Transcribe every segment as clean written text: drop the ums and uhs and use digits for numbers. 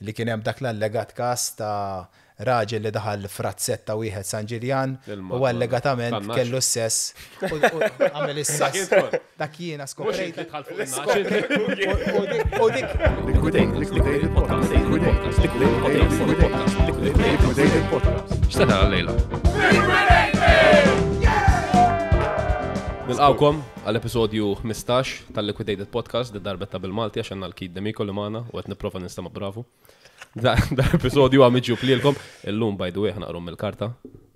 Li kien hemm dak l-allegat każ ta' raġel li daħal f'razzett ta' wieħed San Ġiljan u allegatament kellu s-sess u għamel is-sess. Dak jiena skoprejt. U dik. X'se tara llejla? Nilqgħukom għal episodju 15 tal-Liquidated Podcast, di darbetta bil-Malti għax għandna l-Keith D'Amico li magħna u qed nipprova ninstema' bravu. Da episodju għam iġġub lilkom. Illum by the way ħnaqrom mill-karta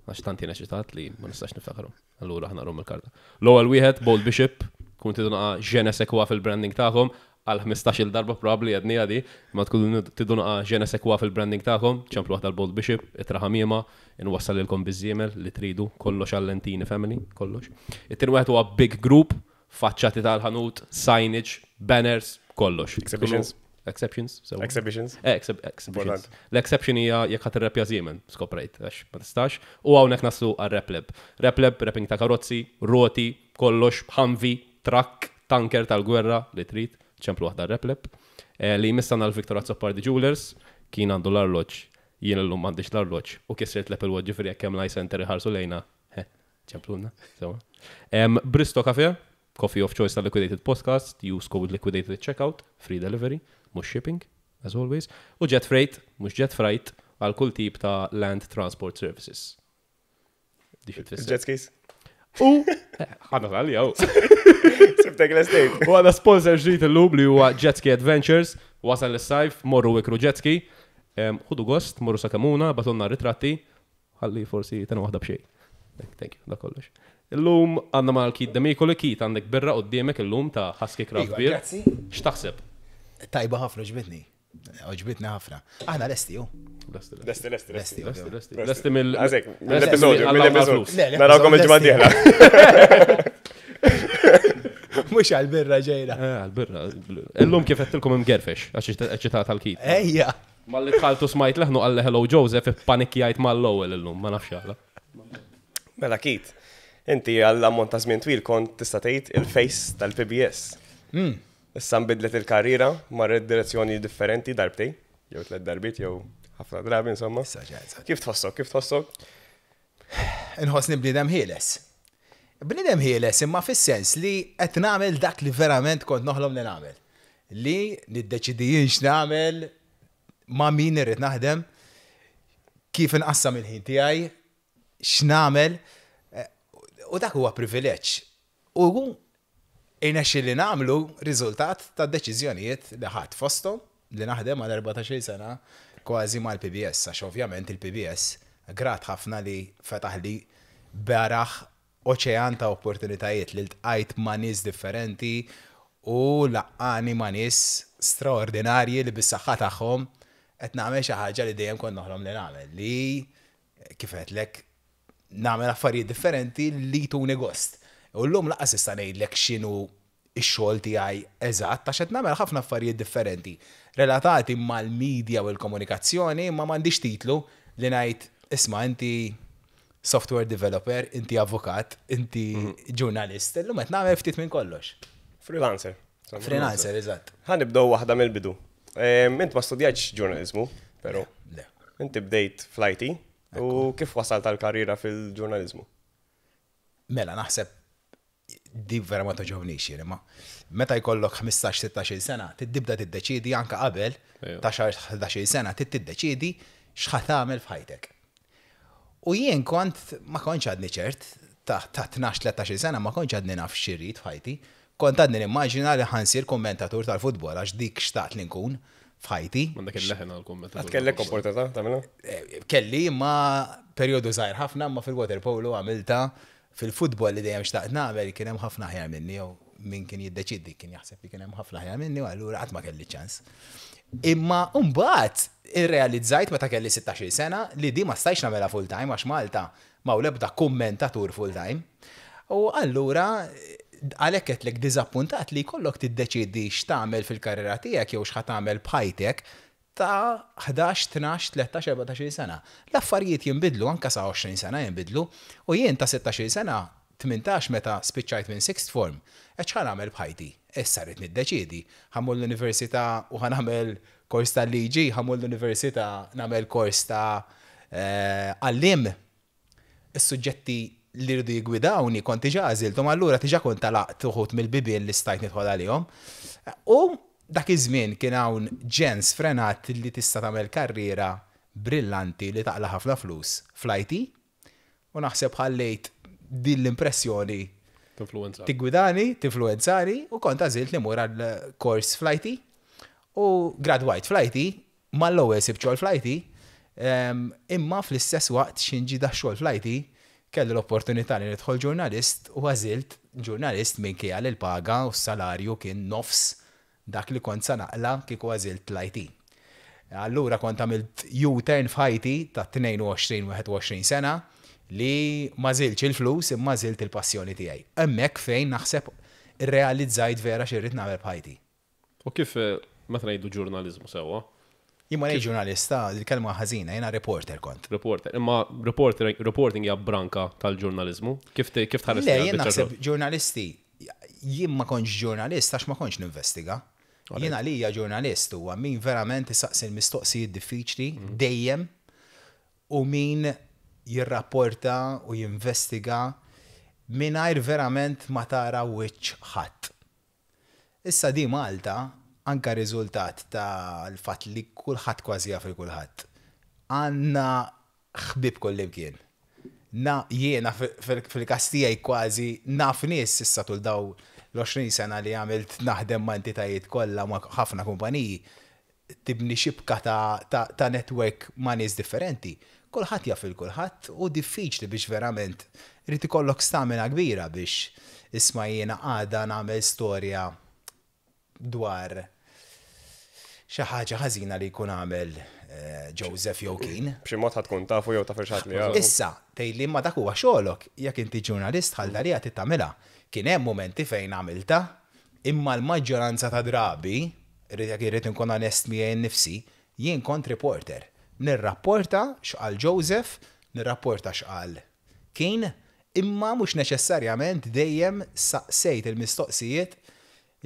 għax tant jien eċitat li ma nistax niftakarhom. Allura ħnaqrom mill-karta. L-ewwel wieħed Bold Bishop, kun tidu naqa' je ne sais quoi fil-branding tagħkom għal 15-il darba probabbli għedniha di, ma tkunu tidu naqa' je ne sais quoi fil-branding tagħkom, ċemplu waħda l-Bold Bishop, ittra ħamiema, inwassalilkom biż-żiemel li tridu, kollox għal-Lentini family, kollox. It-tieni wieħed huwa Big Group, faċċati tal-ħanut, signage, banners, kollox. Exhibitions. Exceptions, sewa. Exhibitions. Eh, exhibitions. L-exception hija jekk ħadd irreppja żiemel, skoprejt, għax ma tistax. U hawnhekk naslu għar-repleb. Repleb, wrapping ta' karozzi, roti, kollox, Humvee, trakk, tanker tal-gwerra li trid, ċemplu waħda r-repleb. Eh, li jmiss għandna l-Victor Azzopardi Jewelers, kien għandu l-arloġġ, jien illum m'għandix l-arloġġ u kissrirt l-Apple Watch ġifieri jekk hemm l-iCenter iħarsu lejna, eh, ċemplulna, sewa. Bristo Cafe, coffee of choice tal-Liquidated Podcast, use code Liquidated at checkout, free delivery, mhux shipping, as always. U Jet Freight, mhux Jet Freight, għal kull tip ta' land transport services. Dik tfisser. Jet skis. U ħana tal jew. Sibtek l-estate. U għadha sponsor ġdid illum li huwa Jet Ski Adventures, wasal is-sajf, morru ikru jet ski. Ħudu gost, morru sa Kemuna, batunna ritratti, ħalli forsi tena waħda b'xejn. Thank you, da kollox. Illum għandna mal Keith Demicoli, Keith għandek birra quddiemek illum ta' Husky Craft Iva, Beer. grazzi. X'taħseb? Tajba ħafna ġbitni. Għoġbitni ħafna. Aħna lesti, ju. Lesti, lesti. Lesti, lesti, lesti. Lesti, lesti mill. Għazek, mill-episodju, mill-episodju. Narawkom il-ġimgħa d-dieħla. Mux għal-birra ġejra. Eh, għal-birra. Illum kif għettilkom imgerfex, għax eċitat għal-kit. Ejja. Malli dħaltu smajt leħnu għalli hello Joseph, panikjajt mal-ewwel illum, ma nafx għala. Mela Kit, inti għall-ammont ta' żmien twil kont tista' tgħid il-face tal-PBS. Hmm. Issa nbidlet il-karriera, marret direzzjoni differenti darbtejn, jew tlett darbiet, jew ħafna drabi insomma. Kif tħossok? Kif tħossok? Inħossni bniedem ħieles. Bniedem ħieles imma fis-sens li qed nagħmel dak li verament kont noħlom li nagħmel. Li niddeċidi jien x'nagħmel, ma' min irrid naħdem, kif inqassam il-ħin tiegħi, x'nagħmel, u dak huwa privileġġ. U irnexxieli nagħmlu riżultat tad-deċiżjonijiet li ħadt fosthom li naħdem għal 14-il sena kważi mal-PBS għax ovvjament il-PBS grat ħafna li fetaħli beraħ oċean ta' opportunitajiet li ltqajt ma' nies differenti u laqqagħni ma' nies straordinarji li bis-saħħa tagħhom qed nagħmel xi ħaġa li dejjem kont noħlom li nagħmel li kif għedtlek nagħmel affarijiet differenti li jtuni gost. U llum lanqas nista' ngħidlek x'inhu x-xogħol tiegħi eżatt għax qed nagħmel ħafna affarijiet differenti relatati mal-media u l-komunikazzjoni imma m'għandix titlu li ngħid isma' inti software developer, inti avukat, inti ġurnalist. Illum qed nagħmel ftit minn kollox. Freelancer. Freelancer, eżatt. Ħa nibdew waħda mill-bidu. Int ma studjajtx ġurnaliżmu, però. Le. Inti bdejt fl-IT u kif wasalt għall-karriera fil-ġurnaliżmu? Mela, naħseb di vera ma toġobnix jien, imma meta jkollok 15-16 sena, tibda tiddeċiedi anke qabel ta' 11 sena, trid tiddeċiedi x'ħa tagħmel f'ħajtek. U jien kont ma kontx għadni ċert, ta' 12-13 sena ma kontx għadni naf x'irrid f'ħajti. Kont għadni nimmaġina li ħa nsir kummentatur tal-futbol għax dik xtaqt li nkun f'ħajti. M'għandek il-leħen għal kummentatur. Qatt kellek opportunità tagħmilha? Kelli imma perjodu żgħir ħafna imma fil-waterpolo għamiltha. Fil-futbol li dejjem xtaqt nagħmel kien hemm ħafna aħjar minni jew min kien jiddeċiedi kien jaħseb li kien hemm ħafna aħjar minni u allura qatt ma kelli ċans. Imma mbagħad irrealizzajt meta kelli 16-il sena li di ma stajtx nagħmilha full time għax Malta m'hawn l-ebda kummentatur full time. U allura għalhekk għedtlek diżappuntat li jkollok tiddeċiedi x'tagħmel fil-karriera tiegħek jew x'ħa tagħmel b'ħajtek ta' 11, 12, 13, 14-il sena. L-affarijiet jinbidlu anke sa 20 sena jinbidlu u jien ta' 16-il sena, 18 meta spiċċajt minn sixth form, għedt x'ħa nagħmel b'ħajti? Issa rrid niddeċiedi, ħa mmur l-università u ħa nagħmel kors tal-liġi, ħa mmur l-università nagħmel kors ta' għalliem. Is-suġġetti li rridu jiggwidawni kont diġà għażilthom, allura diġà kont għalaqt uħud mill-bibien li stajt nidħol għalihom. U dak iż-żmien kien hawn ġenn sfrenat li tista' tagħmel karriera brillanti li taqla' ħafna flus fl-IT u naħseb ħallejt din l-impressjoni Tinfluwenzak. Tiggwidani, tinfluwenzani u kont għażilt li mmur għal kors fl-IT u gradwajt fl-IT, mal-ewwel sibt xogħol fl-IT, imma fl-istess waqt x'inġi ġie dax-xogħol fl-IT kelli l-opportunità li nidħol ġurnalist u għażilt ġurnalist minkejja li l-paga u s-salarju kien nofs dak li kont sa naqla' kieku għażilt l-IT. Allura kont għamilt U-turn f'ħajti ta' 22, 21 sena li m'għażiltx il-flus imma għażilt il-passjoni tiegħi. Hemmhekk fejn naħseb irrealizzajt vera xi rrid nagħmel b'ħajti. U kif, meta ngħidu ġurnaliżmu sewwa? Jien ma ngħidx ġurnalista, il-kelma ħażina, jiena reporter kont. Reporter, imma reporter, reporting hija branka tal-ġurnaliżmu? Kif kif tħares Le, jien naħseb ġurnalisti, jien ma kontx ġurnalist għax ma kontx ninvestiga. Jien għalija ġurnalist huwa min verament isaqsi l-mistoqsijiet diffiċli dejjem u min jirrapporta u jinvestiga mingħajr verament ma tara wiċċ ħadd. Issa di Malta, anke riżultat tal-fatt li kulħadd kważi jaf 'il kulħadd, għandna ħbieb kullimkien. Na, jiena fil-każ tiegħi kważi naf nies issa tul dawn l-20 sena li għamilt naħdem ma' entitajiet kollha ma' ħafna kumpaniji, tibni xibka ta' ta' network ma' nies differenti. Kulħadd jaf 'il kulħadd u diffiċli biex verament irid ikollok stamina kbira biex isma' jiena għada nagħmel storja dwar xi ħaġa ħażina li jkun għamel Joseph jew Keen. B'xi mod ħa tkun tafu jew taf 'il xi ħadd li jafu. Issa, tgħidli imma dak huwa xogħlok, jekk inti ġurnalist dħalt għaliha trid tagħmilha. Kien hemm mumenti fejn għamiltha, imma l-maġġoranza ta' drabi, jekk irrid inkun onest miegħi nnifsi, jien kont reporter. Nirrapporta x'qal Joseph, nirrapporta x'qal Keen, imma mhux neċessarjament dejjem saqsejt il-mistoqsijiet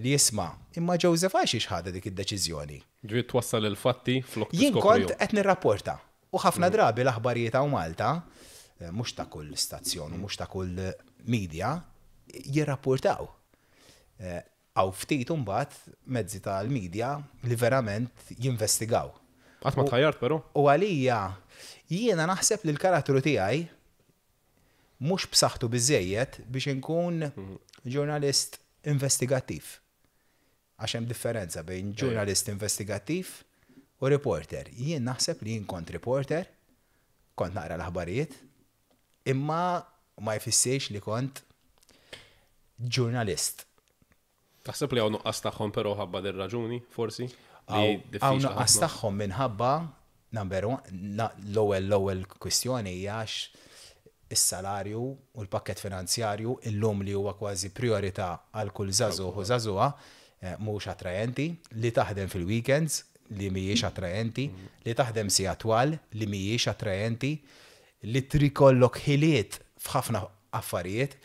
li isma', imma Joseph għalxiex ħadha dik id-deċiżjoni? Ġifieri twassal il-fatti flok Jien kont qed nirrapporta. U ħafna drabi l-aħbarijiet hawn Malta, mhux ta' kull stazzjon u mhux ta' kull media, jirrapportaw. Hawn ftit imbagħad mezzi tal-media li verament jinvestigaw. Qatt ma tħajjart però? U għalija, jiena naħseb li l-karattru tiegħi mhux b'saħħtu biżżejjed biex inkun ġurnalist investigattiv. Għax hemm differenza bejn ġurnalist investigattiv u reporter. Jien naħseb li jien kont reporter, kont naqra l-aħbarijiet, imma ma jfissirx li kont ġurnalist. Taħseb li hawn nuqqas tagħhom però ħabba din raġuni, forsi? Hawn nuqqas tagħhom minħabba number one, l-ewwel l-ewwel kwistjoni hija għax is-salarju u l-pakkett finanzjarju illum li huwa kważi prijorità għal kull żagħżugħ u żagħżugħa mhux attrajenti, li taħdem fil-weekends li mhijiex attrajenti, li taħdem sigħat twal li mhijiex attrajenti, li trid ikollok ħiliet f'ħafna affarijiet,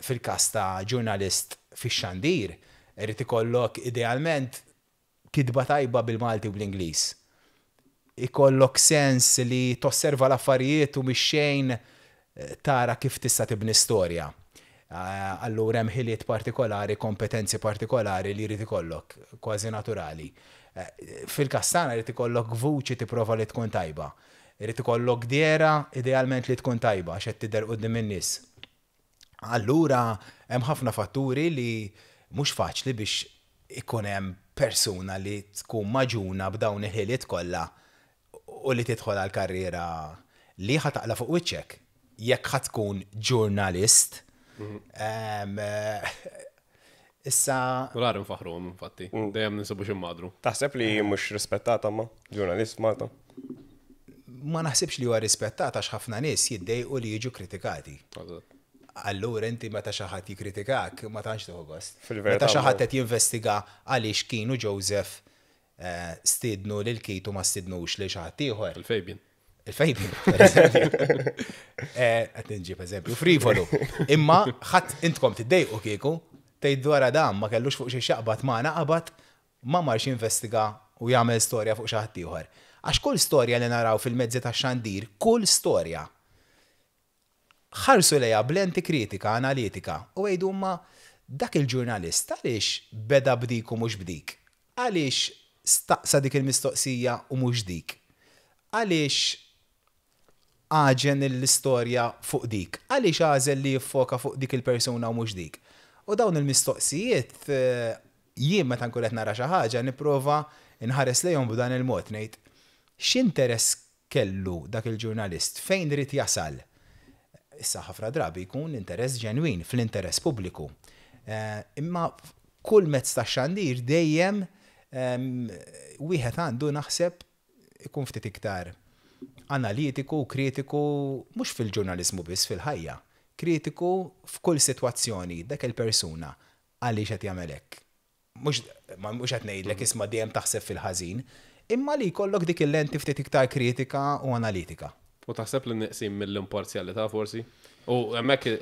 fil-każ ta' ġurnalist fix-xandir, irid ikollok idealment kitba tajba bil-Malti u bl-Ingliż. Ikollok sens li tosserva l-affarijiet u mix-xejn tara kif tista' tibni storja. Allura hemm ħiliet partikolari, kompetenzi partikolari li jrid ikollok, kważi naturali. Fil-każ tagħna jrid ikollok vuċi tipprova li tkun tajba. Irid ikollok dehra idealment li tkun tajba għax qed tidher quddiem in-nies. Allura hemm ħafna fatturi li mhux faċli biex ikun hemm persuna li tkun magħġuna b'dawn il-ħiliet kollha u li tidħol għal karriera li ħa taqla' fuq wiċċek jekk ħa tkun ġurnalist. Issa. Rari nfaħruhom infatti, dejjem ninsibu xi madru. Taħseb li mhux rispettata ma ġurnalist f'Malta? Ma naħsibx li huwa rispettat għax ħafna nies jiddejqu li jiġu kritikati. Allura inti meta xi ħadd jikkritikak ma tantx tieħu gost. Meta xi ħadd qed jinvestiga għaliex kienu Joseph eh, stiednu lil Keith u ma stidnux lil xi ħadd ieħor. Il-Fabian. Il-Fabian, per eżempju. Eh, qed nġib eżempju frivolu. Imma ħadd intkom tiddejqu kieku. Tgħid wara dan ma kellux fuq xiex jaqbad magħna qabad, ma marx jinvestiga u jagħmel storja fuq xi ħadd ieħor. Għax kull storja li naraw fil-mezzi tax-xandir, kull storja, ħarsu lejha b'lenti kritika, analitika, u għidu imma dak il-ġurnalist għaliex beda b'dik u mhux b'dik? Għaliex staqsa dik il-mistoqsija u mhux dik? Għaliex għaġen l-istorja fuq dik? Għaliex għażel li jiffoka fuq dik il-persuna u mhux dik? U dawn il-mistoqsijiet jien meta nkun qed nara xi ħaġa nipprova nħares lejhom b'dan il-mod, ngħid x'interess kellu dak il-ġurnalist, fejn ried jasal? Issa ħafna drabi jkun interess ġenwin, fl-interess pubbliku. Imma kull mezz ta' xandir dejjem wieħed għandu naħseb ikun ftit iktar analitiku u kritiku mhux fil-ġurnaliżmu biss fil-ħajja. Kritiku f'kull sitwazzjoni dak il-persuna għaliex qed jagħmel hekk. Mhux mhux qed ngħidlek isma' dejjem taħseb fil-ħażin, imma li jkollok dik il-lenti ftit iktar kritika u analitika. U taħseb li neqsin mill-imparzjalità forsi? U hemmhekk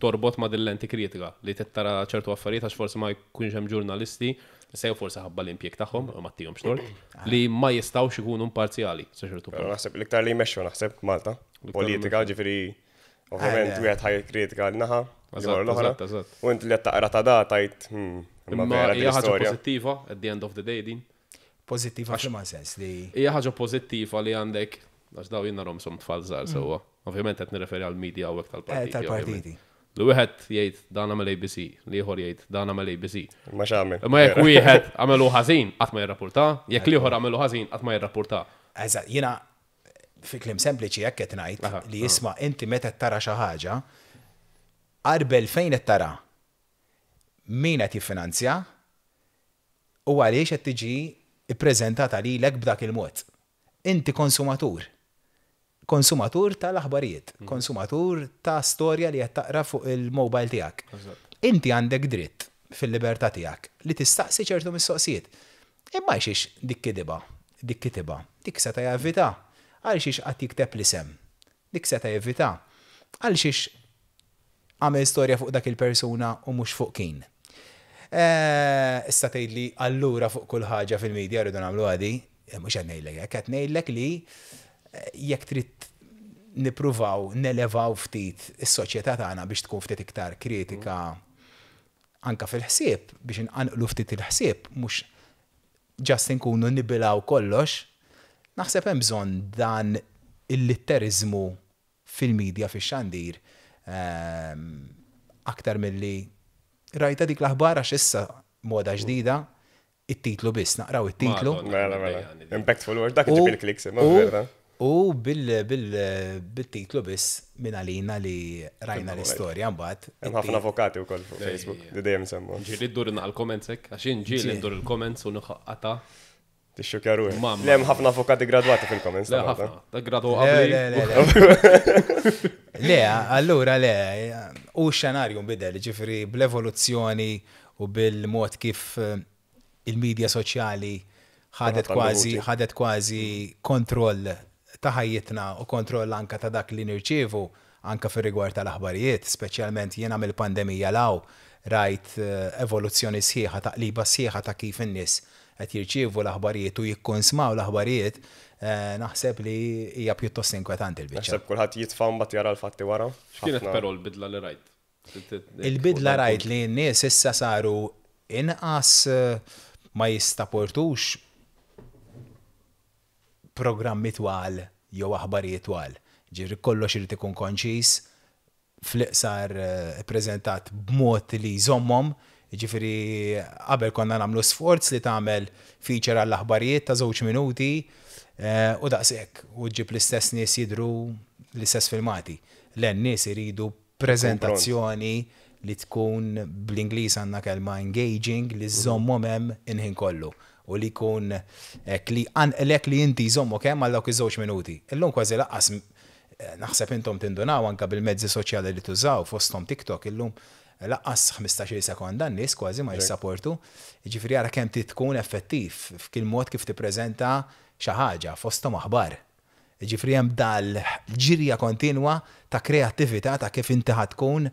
torbot ma' din lenti kritika li tara ċertu affarijiet għax forsi ma jkunx hemm ġurnalisti, sew forsi ħabba l-impjieg tagħhom, ma tihomx tort, li ma jistgħux ikunu imparzjali sa ċertu Però punt. naħseb l-iktar li jmexxu naħseb Malta, politika, ġifieri ovvjament wieħed ħaj kritika l-naħa, Eżatt, l-oħra. eżatt, eżatt. U inti li qed taqra ta' da tajt, imma Imma vera din hija ħaġa l-istorja. pożittiva at the end of the day din. Pożittiva f'liema sens li Hija ħaġa pożittiva li għandek għax daw jien narhom sum tfal żgħar sewwa. Ovvjament qed nirreferi għal media hawnhekk tal-partiti. Eh, tal-partiti. ovvjament. Li wieħed jgħid dan għamel ABC, li ieħor jgħid dan għamel ABC. Ma x'għamel. Imma jekk wieħed għamelu ħażin qatt ma jirrapporta, jekk l-ieħor għamelu ħażin qatt ma jirrapporta. Eżatt, jiena fi kliem sempliċi hekk qed ngħid li isma' inti meta tara xi ħaġa, qarbel fejn qed tara min qed jiffinanzja u għaliex qed tiġi ppreżentata lilek b'dak il-mod. Inti konsumatur. Konsumatur tal-aħbarijiet, konsumatur ta' storja li qed taqra fuq il-mobile tiegħek. Inti għandek dritt fil-libertà tiegħek li tistaqsi ċertu mistoqsijiet. Imma għalxiex dik kitibha, dik kitibha, dik seta' jevita. Għalxiex qatt jikteb l-isem, dik seta' jevita. Għalxiex għamel storja fuq dak il-persuna u mhux fuq kien. Issa tgħidli allura fuq kull ħaġa fil-media rridu nagħmlu għadi, mhux qed ngħidlek hekk, qed ngħidlek li jekk trid nippruvaw nelevaw ftit is-soċjetà tagħna biex tkun ftit iktar kritika anka fil-ħsieb, biex inqanqlu ftit il-ħsieb, mhux just inkunu nibilaw kollox, naħseb hemm bżonn dan il-litteriżmu fil-media, fix-xandir, aktar milli rajta dik l-aħbar għax issa moda ġdida, it-titlu biss, naqraw it-titlu. Mela, mela. Impactful word, dak iġib il-kliks, imma vera. U bil-titlu biss minn għalina li rajna l-istorja mbagħad. Hemm ħafna avukati wkoll fuq Facebook li dejjem semmu. Ġieli ddur il-comments hekk, għax jien ġieli ndur il-comments u nħaqqata. Tixxukja ruħi. Mamma. Le hemm ħafna avukati gradwati fil-comments. Le ta' Malta. ħafna, dak gradu Le, qabli. le, le, le. Le, allura le, u x-xenarju nbidel, ġifieri bl-evoluzzjoni u bil-mod kif il-medja soċjali ħadet Ħadd għandu kważi vuċi. ħadet kważi kontroll ta' ħajjitna u kontroll anka ta' dak li nirċievu anka fir-rigward tal-aħbarijiet, speċjalment jiena mill-pandemija law rajt evoluzzjoni sħiħa, taqliba sħiħa ta' kif in-nies qed jirċievu l-aħbarijiet u jikkonsmaw l-aħbarijiet, naħseb li hija pjuttost inkwetanti l-biċċa. Naħseb kulħadd jitfa' mbagħad jara l-fatti wara. X'kienet Ħafna. però l-bidla li rajt? Il-bidla rajt li n-nies issa saru inqas ma jistaportux programmi twal jew aħbarijiet twal. Ġifieri kollox irid ikun konċis, fl-iqsar preżentat b'mod li jżommhom. Ġifieri qabel konna nagħmlu sforz li tagħmel feature għall-aħbarijiet ta' 2 minuti u daqshekk u ġġib l-istess nies jidhru l-istess filmati. Le, n-nies iridu preżentazzjoni li tkun bl-Ingliż għandna kelma engaging li żżommhom hemm inħin kollu u li jkun hekk li jqanqlek li inti jżommok hemm għal dawk iż-żewġ minuti. Illum kważi lanqas naħseb intom tindunaw anke bil-mezzi soċjali li tużaw fosthom TikTok illum lanqas 15-il sekonda n-nies kważi ma jissaportu. Jiġifieri ara kemm trid tkun effettiv f'kil mod kif tippreżenta xi ħaġa fosthom aħbar. Jiġifieri hemm dal-ġirja kontinwa ta' kreattività ta' kif inti ħa tkun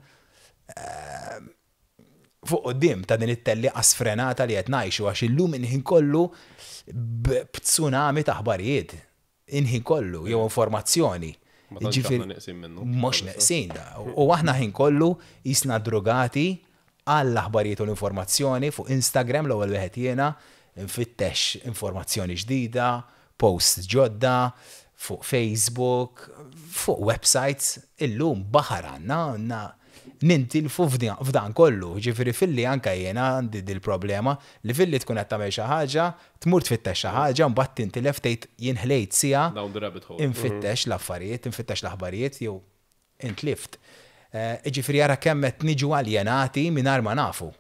fuq quddiem ta' din it-tellieqa sfrenata li qed ngħixu għax illum il-ħin kollu b'tsunami ta' aħbarijiet. Il-ħin kollu, jew informazzjoni. Ma tantx aħna neqsin minnu. Mhux neqsin da. U aħna ħin kollu jisna drugati għall-aħbarijiet u l-informazzjoni fuq Instagram l-ewwel wieħed jiena nfittex informazzjoni ġdida, posts ġodda, fuq Facebook, fuq websites, illum baħar għandna, għandna nintilfu f'dan kollu. Ġifieri filli anke jiena għandi dil-problema li filli tkun qed tagħmel xi ħaġa, tmur tfittex xi ħaġa, mbagħad tintilef tgħid jien ħlejt siegħa Down the rabbit hole. infittex l-affarijiet, infittex l-aħbarijiet jew intlift. Ġifieri ara kemm qed niġu aljenati mingħajr ma nafu.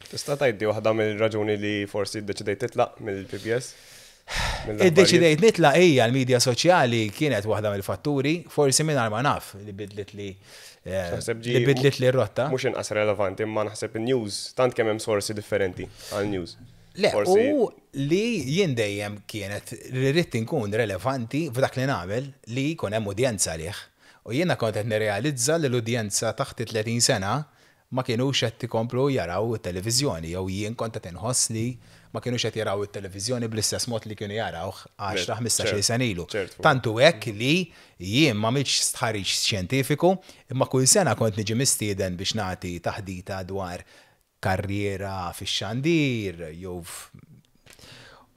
Tista' tgħidli waħda mill-raġuni li forsi ddeċidejt titlaq mill-PBS? Mill-aħbarijiet? Iddeċidejt nitlaq hija l-medja soċjali kienet waħda mill-fatturi, forsi mingħajr ma naf li bidlit li Naħseb ġi li bidlit li r-rotta. Mhux inqas relevanti, imma naħseb in-news tant kemm hemm sorsi differenti għal news. Le, Forsi u li jien dejjem kienet li rrid inkun relevanti f'dak li nagħmel li jkun hemm udjenza għalih. U jiena kont qed nirrealizza li l-udjenza taħt 30 sena ma kienux qed ikomplu jaraw it-televiżjoni jew jien kont qed inħoss li ma kienux qed jaraw it-televiżjoni bl-istess mod li kienu jarawh 10 15 sena ilu. Tantu hekk li jien ma għamiltx stħarriġ xjentifiku, imma kull sena kont niġi mistieden biex nagħti taħdita dwar karriera fix-xandir jew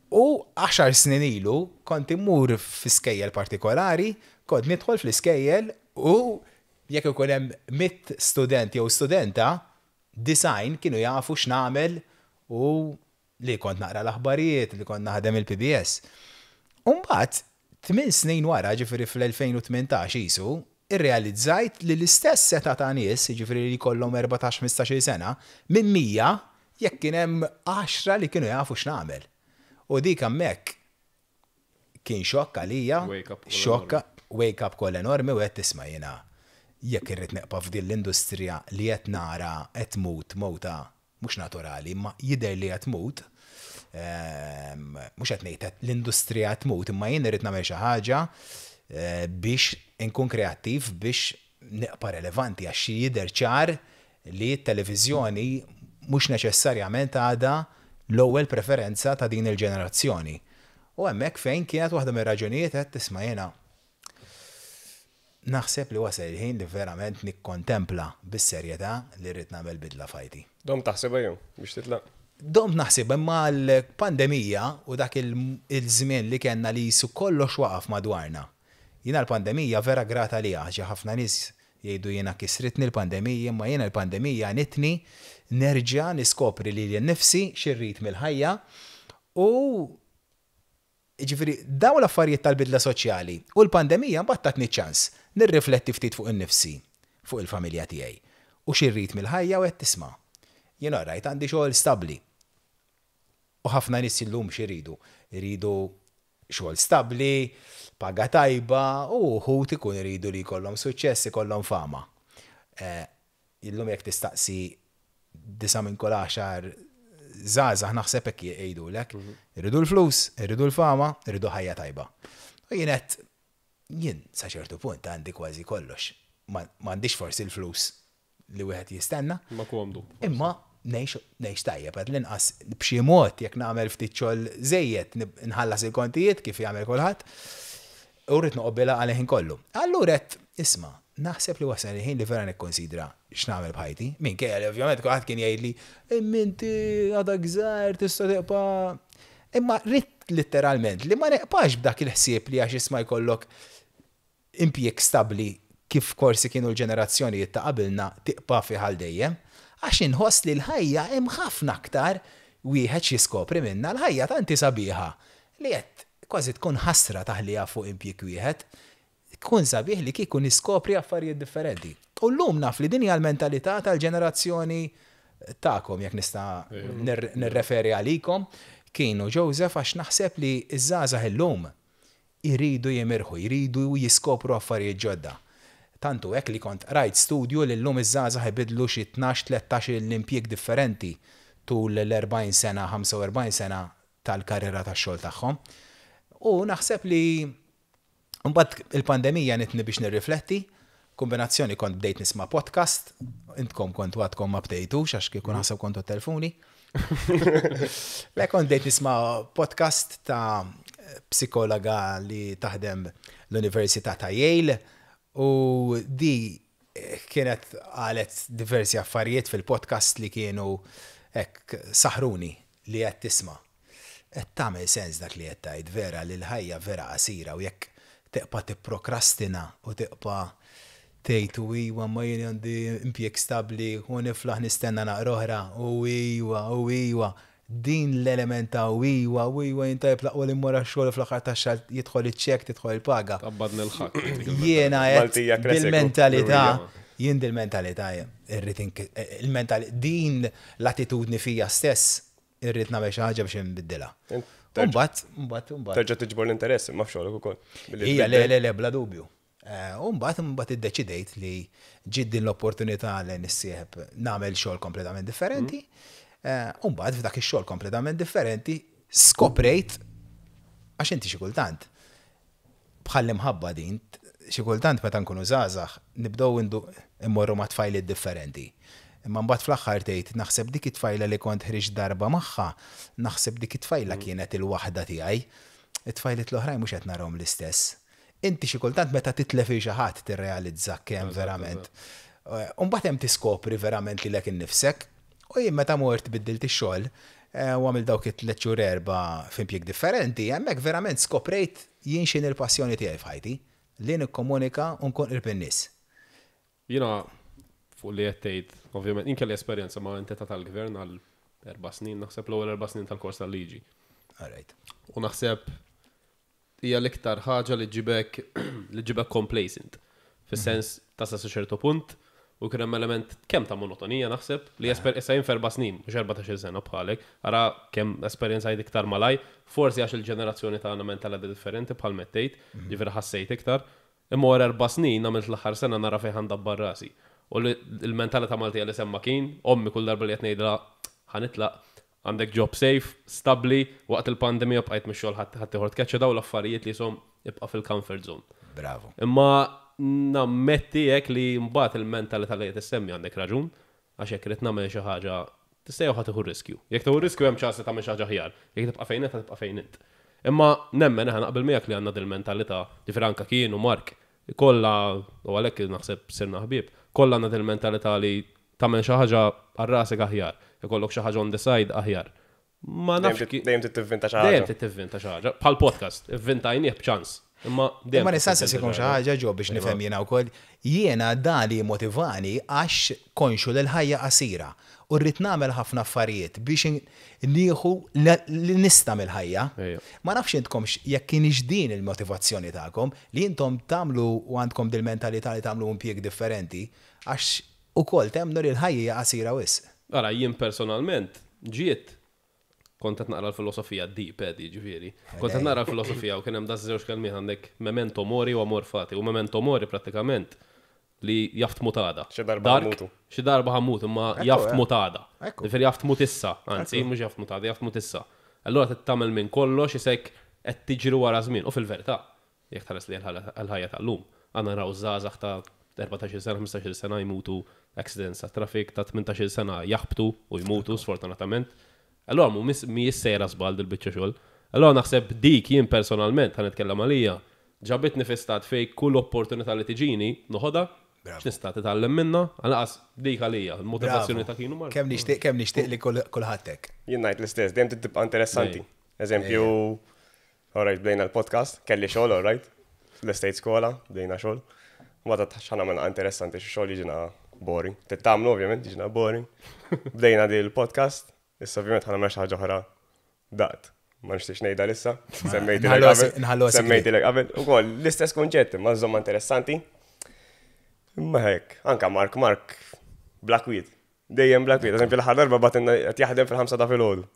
U 10 snin ilu kont immur f'iskejjel partikolari, kont nidħol fl-iskejjel u jekk ikun hemm 100 student jew studenta, 90 kienu jafu x'nagħmel u li kont naqra l-aħbarijiet, li kont naħdem il-PBS. U mbagħad 8 snin wara, ġifieri fl-2018 isu, irrealizzajt li l-istess seta ta' nies, ġifieri li kollhom 14-15 sena, minn 100 jekk kien hemm 10 li kienu jafu x'nagħmel. U dik hemmhekk kien xokk għalija, Wake up call xokk, wake up call enormi u qed tisma' jiena jekk irrid neqpa' f'din l-industrija li qed nara qed tmut mowta mhux naturali, imma jidher li qed tmut, mhux qed ngħid l-industrija qed tmut, imma jien irrid nagħmel xi ħaġa biex inkun kreattiv biex neqpa' relevanti għax jidher ċar li t-televiżjoni mhux neċessarjament għadha l-ewwel preferenza ta' din il-ġenerazzjoni. U hemmhekk fejn kienet waħda mir-raġunijiet qed tisma' jiena naħseb li wasal il-ħin li verament nikkontempla bis-serjetà li rrid nagħmel bidla f'ħajti. Dom taħsebha jew biex titlaq? Dom naħseb imma l-pandemija u dak il-żmien li kellna li jisu kollox waqaf madwarna. Jiena l-pandemija vera grata li għax ħafna nies jgħidu jiena kisritni l-pandemija, imma jiena l-pandemija għenitni nerġa' niskopri lili nnifsi x'irrid mill-ħajja u ġifieri dawn l-affarijiet tal-bidla soċjali u l-pandemija mbagħad tatni ċans nirrifletti ftit fuq innifsi, fuq il-familja tiegħi u x'irrid mill-ħajja u qed tisma'. Jien rajt għandi xogħol stabbli. U ħafna nies illum x'iridu? Iridu xogħol stabbli, paga tajba u wħud ikun iridu li jkollhom suċċess, ikollhom fama. Illum jekk tistaqsi 9 minn kull 10 żgħażagħ naħseb hekk jgħidulek. Iridu l-flus, iridu l-fama, iridu ħajja tajba. U jien qed jien sa ċertu punt għandi kważi kollox. M'għandix forsi l-flus li wieħed jistenna. Ma komdu. Imma ngħix tajjeb, għad l-inqas b'xi mod jekk nagħmel ftit xogħol żejjed nħallas il-kontijiet kif jagħmel kulħadd. U rrid noqgħod għal ħin kollu. Allura qed isma' naħseb li wasal il-ħin li vera nikkonsidra x'nagħmel b'ħajti. Minkejja li ovvjament kulħadd kien jgħidli imma inti għadak żgħir tista' tibqa'. Imma rrid letteralment li ma neqpax b'dak il-ħsieb li għax isma' jkollok impjieg stabbli kif forsi kienu l-ġenerazzjonijiet ta' qabilna tiqpa' fi ħal dejjem. Għax inħoss li l-ħajja hemm ħafna aktar wieħed x'jiskopri minnha, l-ħajja tanti sabiħa li qed kważi tkun ħasra taħliha fuq impjieg wieħed. Tkun sabiħ li kieku niskopri affarijiet differenti. U llum naf li din hija l-mentalità tal-ġenerazzjoni tagħkom, jekk nista' nirreferi għalikom, kienu Joseph, għax naħseb li ż-żgħażagħ illum iridu jimirħu, jridu jiskopru affarijiet ġodda. Tantu hekk li kont rajt studju li llum iż-żgħażagħ ibidlu xi 12-13 l-impjieg differenti tul l-40 sena, 45 sena tal-karriera tax-xogħol tagħhom. U naħseb li mbagħad il-pandemija nitni biex nirrifletti Kombinazzjoni kont bdejt nisma' podcast, intkom kontu għadkom ma bdejtux għax kieku naħseb kontu telfuni. Le, kont bdejt nisma' podcast ta' psikologa li taħdem l-Università ta' Yale u di kienet qalet diversi affarijiet fil-podcast li kienu hekk saħruni li qed tisma'. Qed tagħmel sens dak li qed tgħid, vera li l-ħajja vera qasira u jekk tibqa' tipprokrastina u tibqa' tgħid u iwa, ma jien għandi impjieg stabbli u niflaħ nistenna naqra oħra u iwa u iwa, din l-element ta' u iwa u iwa jien tajjeb l-aqwa li mmur għax-xogħol u fl-aħħar tax-xahar jidħol iċ-ċekk, tidħol il-paga. Tqabbadni l-ħakk. Jiena qed Maltija classic. dil-mentalità, jien dil-mentalità irrid il-mentalità, din l-attitudni fija stess irrid nagħmel xi ħaġa biex inbiddilha. U mbagħad, mbagħad, mbagħad. Terġa' tiġbor l-interess imma f'xogħlok ukoll. Billi Ija, le, tbiddel. le, le, bla dubju. U mbagħad iddeċidejt li ġiet din l-opportunità li nissieħeb nagħmel xogħol kompletament differenti. U mbagħad f'dak ix-xogħol kompletament differenti skoprejt, għax inti xi kultant bħal imħabba din, xi kultant meta nkunu żgħażagħ nibdew immorru ma' tfajliet differenti. Imma mbagħad fl-aħħar tgħid, naħseb dik it-tfajla li kont ħriġt darba magħha, naħseb dik it-tfajla kienet il-waħda tiegħi. It-tfajliet l-oħrajn mhux qed narahom l-istess. Inti xi kultant meta titlef xi ħadd tirrealizza kemm verament. U mbagħad hemm tiskopri verament lilek innifsek. U jien meta mort biddilt ix-xogħol u għamil dawk it-3 xhur 4 f'impjieg differenti, hemmhekk verament skoprejt jien x'inhi l-passjoni tiegħi f'ħajti, li nikkomunika u nkun qrib in-nies. Jiena fuq li qed tgħid, ovvjament, jien kelli esperjenza ma' entità tal-gvern għal 4 snin, naħseb l-ewwel 4 snin tal-kors tal-liġi. All right. U naħseb hija l-iktar ħaġa li ġibek complacent. Fis-sens tasal sa ċertu punt u kien hemm element kemm ta' monotonija naħseb li issa jien f'erba' snin, mhux 14-il sena bħalek, ara kemm esperjenza jgħid iktar malaj, forsi għax il-ġenerazzjoni tagħna mentalità differenti bħal mettejt, ġifieri ħassejt iktar. Imma wara 4 snin għamilt l-aħħar sena nara fejn ħandabbar rasi. U il-mentalità Maltija li semma kien, ommi kull darba li qed ngħidilha ħanitlaq, għandek job safe, stabli, waqt il-pandemija bqajt mix-xogħol ħadd ieħor tkeċċa, daw l-affarijiet li jisom ibqa' fil-comfort zone. Bravo. Imma nammetti hekk li mbagħad il-mentalità li qed issemmi għandek raġun, għax jekk irid nagħmel xi ħaġa tista' jew ħa tieħu riskju. Jekk tieħu riskju hemm ċans li tagħmel xi ħaġa aħjar, jekk tibqa' fejn int tibqa' fejn int. Imma nemmen aħna naqbel miegħek li għandna dil-mentalità, ġifieri anke kien u Mark, kollha, u għalhekk naħseb sirna ħbieb, kollha għandna dil-mentalità li tagħmel xi ħaġa għal rasek aħjar, ikollok xi ħaġa on the side aħjar. Ma Dejjem nafx dejjem tittivvinta xi Dejjem ħaġa. tittivvinta xi ħaġa. Bħal podcast, ivvintajnieh b'ċans. Imma dejjem Imma nista' tittivvinta nsaqsikom xi xi ħaġa ġo biex nifhem jiena wkoll. Jiena dan li motivani għax konxu li l-ħajja qasira u rrid nagħmel ħafna affarijiet biex nieħu li nista' mill-ħajja. Ma nafx intkom jekk kienx din il-motivazzjoni tagħkom li intom tagħmlu u għandkom dil-mentalità li tagħmlu impjieg differenti għax ukoll temmnu li l-ħajja hija qasira wisq. Ara, jien personalment ġiet kont qed naqra l-filosofija deep, Eddie, ġifieri. Kont qed naqra l-filosofija u kien hemm da żewġ kelmiet, għandek memento mori u amor fati. U memento mori pratikament li jaf tmut għada. Xi darba Dark, ħammutu. Xi darba ħammut, imma jaf tmut għada. Ġifieri jaf tmut issa, anzi, mhux jaf tmut għada, jaf tmut issa. Allura trid tagħmel minn kollox isek qed tiġri wara żmien. U fil-verità, jekk tħares li l-ħajja tal-lum, għandna naraw żgħażagħ ta' 14-il sena, 15-il sena jmutu accidents ta' traffic, ta' 18-il sena jaħbtu u jmutu sfortunatament. Allora mu mi jissejra żball dil-biċċa xogħol. Allora naħseb dik jien personalment ħa nitkellem għalija, ġabitni fi stat fej kull opportunità li tiġini noħodha, x'nista' titgħallem minnha, għalqas dik għalija, il-motivazzjoni ta' kienu Mark. Kemm nixtieq li kulħadd hekk. Jien ngħid l-istess, dejjem tibqa' interessanti. Eżempju, alright, bdejna l-podcast, kelli xogħol, alright, l-estate skola, bdejna xogħol. Mbagħad x'ħa nagħmel interessanti, xi xogħol jiġina boring. Tittamlu ovvjament jiġina boring. Bdejna di l-podcast, issa ovvjament ħa nagħmel xi ħaġa oħra daqt. Ma nixtiex ngħidha issa, semmejtilek qabel. Nħallu għas- Semmejtilek qabel. Ukoll l-istess kunċett, imma żomma interessanti. Imma hekk, anka Mark Blackweed. Dejjem Blackweed. Eżempju l-aħħar darba batinna qed jaħdem fil-5 ta' filgħodu.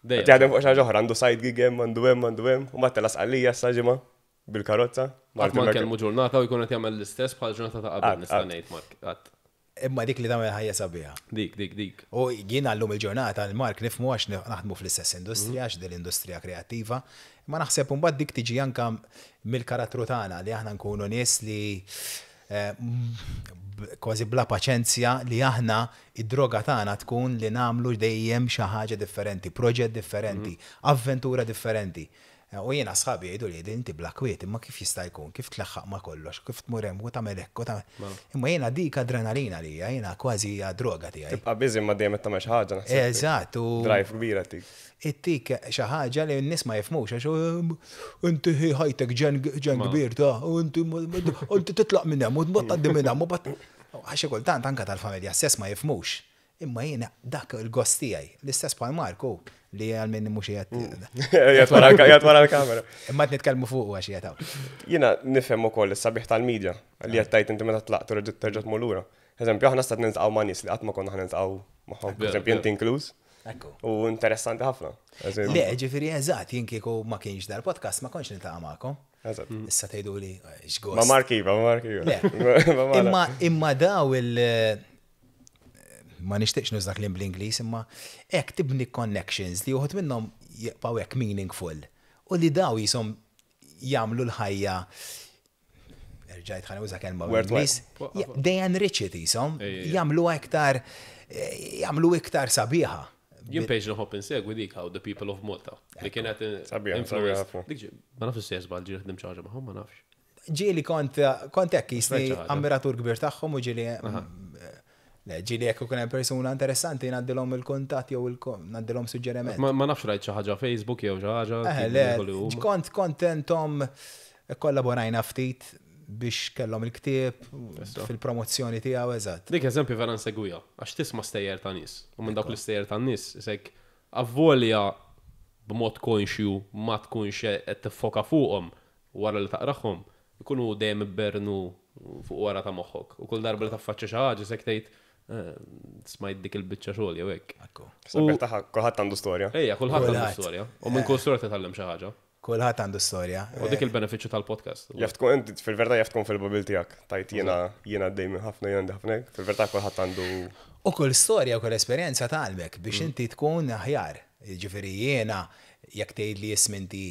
Dejjem. Qed jaħdem fuq xi ħaġa oħra, għandu side gig hemm, għandu hemm, għandu hemm, u mbagħad tela' Sqallija issa ġimgħa bil-karozza. Qatt ma nkellmu ġurnata u jkun qed jagħmel l-istess bħal ġurnata ta' qabel, Qatt, nista' qatt. ngħid Mark. Qatt. Imma dik li tagħmel ħajja sabiħa. Dik, dik, dik. U jiena llum il-ġurnata l-Mark nifhmu għax naħdmu fl-istess industrija, għax din l-industrija kreattiva. Ma naħseb imbagħad dik tiġi anka mill-karattru tagħna li aħna nkunu nies li Kważi bla paċenzja li aħna id-droga tagħna tkun li nagħmlu dejjem xi ħaġa differenti, proġett differenti, avventura differenti. U jiena sħabi jgħidu li inti bla kwiet, imma kif jista' jkun, kif tleħħaq ma' kollox, kif tmur hemm u tagħmel hekk u tagħmel. Imma jiena dik adrenalina li hija, jiena kważi hija droga tiegħi. Tibqa' busy ma dejjem qed tagħmel xi ħaġa naħseb. Eżatt, u Drive kbira tik. Ittik xi ħaġa li n-nies ma jifhmux għax inti hi ħajtek ġen kbir ta' u inti titlaq minn hemm u tgħaddi minn hemm u bat għax xi kultant anke tal-familja stess ma jifhmux. Imma jiena dak il-gost tiegħi, l-istess bħal Marku li għal min mhux qiegħed. Qiegħed wara l-kamera. Imma qed nitkellmu fuq għax qiegħed hawn. Jiena nifhem ukoll is-sabiħ tal-medja li qed tgħid inti meta tlaqt u reġgħet terġa' tmur lura. Eżempju, aħna stat niltaqgħu ma' nies li qatt ma konna ħa niltaqgħu magħhom, eżempju inti inkluż. Ekku. U interessanti ħafna. Le, ġifieri eżatt, jien kieku ma kienx dal-podcast ma kontx niltaqa' magħkom. Eżatt. Issa tgħidu li x'gost. Ma' Mark iva, ma' Mark iva. Le. Imma imma daw il- ma nixtieqx nuża kliem bl-Ingliż, imma hekk tibni connections li uħud minnhom jibqgħu hekk meaningful u li daw jisom jagħmlu l-ħajja, erġajt ħa nuża kelma bl-Ingliż, they enrich it jisom, jagħmlu iktar jagħmlu iktar sabiħa. Jien page nħobb insegwi dik how the people of Malta. Li kienet Sabiħa, influence. sabiħa ħafna. Dik ma nafx se żball ġieli ħdim xi ħaġa magħhom, ma nafx. Ġieli kont hekk jisni Xi ħaġa. ammiratur kbir tagħhom u ġieli le, ġieli jekk ikun hemm persuna interessanti ngħaddilhom il-kuntatt jew ngħaddilhom suġġeriment. Ma nafx rajt xi ħaġa Facebook jew xi ħaġa. Eh, tipo le, li huma. kont kontentom kollaborajna ftit biex kellhom il-ktieb fil-promozzjoni tiegħu eżatt. Dik eżempju vera nsegwiha, għax tisma' stejjer ta' nies. U minn dawk l-istejjer ta' nies, isek avvolja b'mod konxju ma tkunx qed tiffoka fuqhom wara li taqrahom, ikunu dejjem ibbernu fuq wara ta' moħħok. U kull darba li taffaċċja xi ħaġa isek tgħid smajt dik il-biċċa xogħol jew hekk. Ekku. Sabiħ tagħha kulħadd għandu storja. Ejja, kulħadd għandu Kulħadd. storja. U minn kull storja titgħallem xi ħaġa. Kulħadd għandu storja. U dik il-benefiċċju tal-podcast. Jaf tkun inti fil-verità jaf tkun fil-bubble tiegħek. Tajt jiena jiena għaddej minn ħafna jiena għandi ħafna hekk. Fil-verità kulħadd għandu U kull storja u kull esperjenza tgħallmek biex inti tkun aħjar. Ġifieri jiena jekk tgħid li ismi inti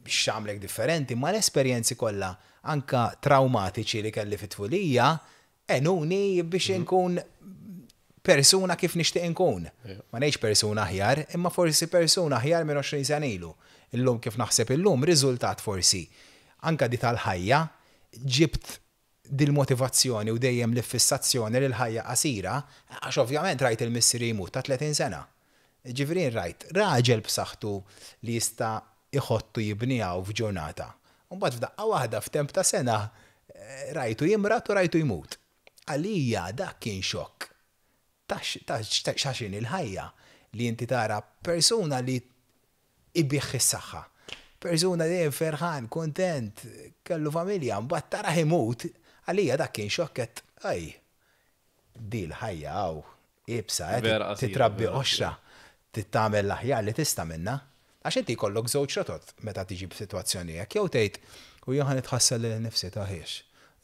x'għamlek differenti, ma l-esperjenzi kollha anka traumatiċi li kelli fit-tfulija għenuni biex inkun persuna kif nixtieq inkun. Ma ngħidx persuna aħjar, imma forsi persuna aħjar minn 20 sena ilu. Illum kif naħseb illum, riżultat forsi. Anka di tal-ħajja ġibt dil-motivazzjoni u dejjem l-fissazzjoni li l-ħajja qasira, għax ovvjament rajt il-missieri jmut ta' 30 sena. Ġifieri rajt raġel b'saħħtu li jista' iħottu jibnijaw f'ġurnata. Mbagħad f'daqqa waħda f'temp ta' sena rajtu jimrat u rajtu jmut. Għalija dak kien xokk. Ta' x'in il-ħajja li inti tara persuna li ibigħ is-saħħa. Persuna dejjem ferħan, kontent, kellu familja, mbagħad tara imut, għalija dak kien xokket, aj, di l-ħajja għaw, ibsa, Vera qasira, titrabbi vera qoxra, tittamel l-aħjar li tista' minna. Għax inti jkollok żewġ rotot meta tiġi b'sitwazzjoni hekk, jew tgħid u jien ħa nitħassel lil nifsi ta' ħiex.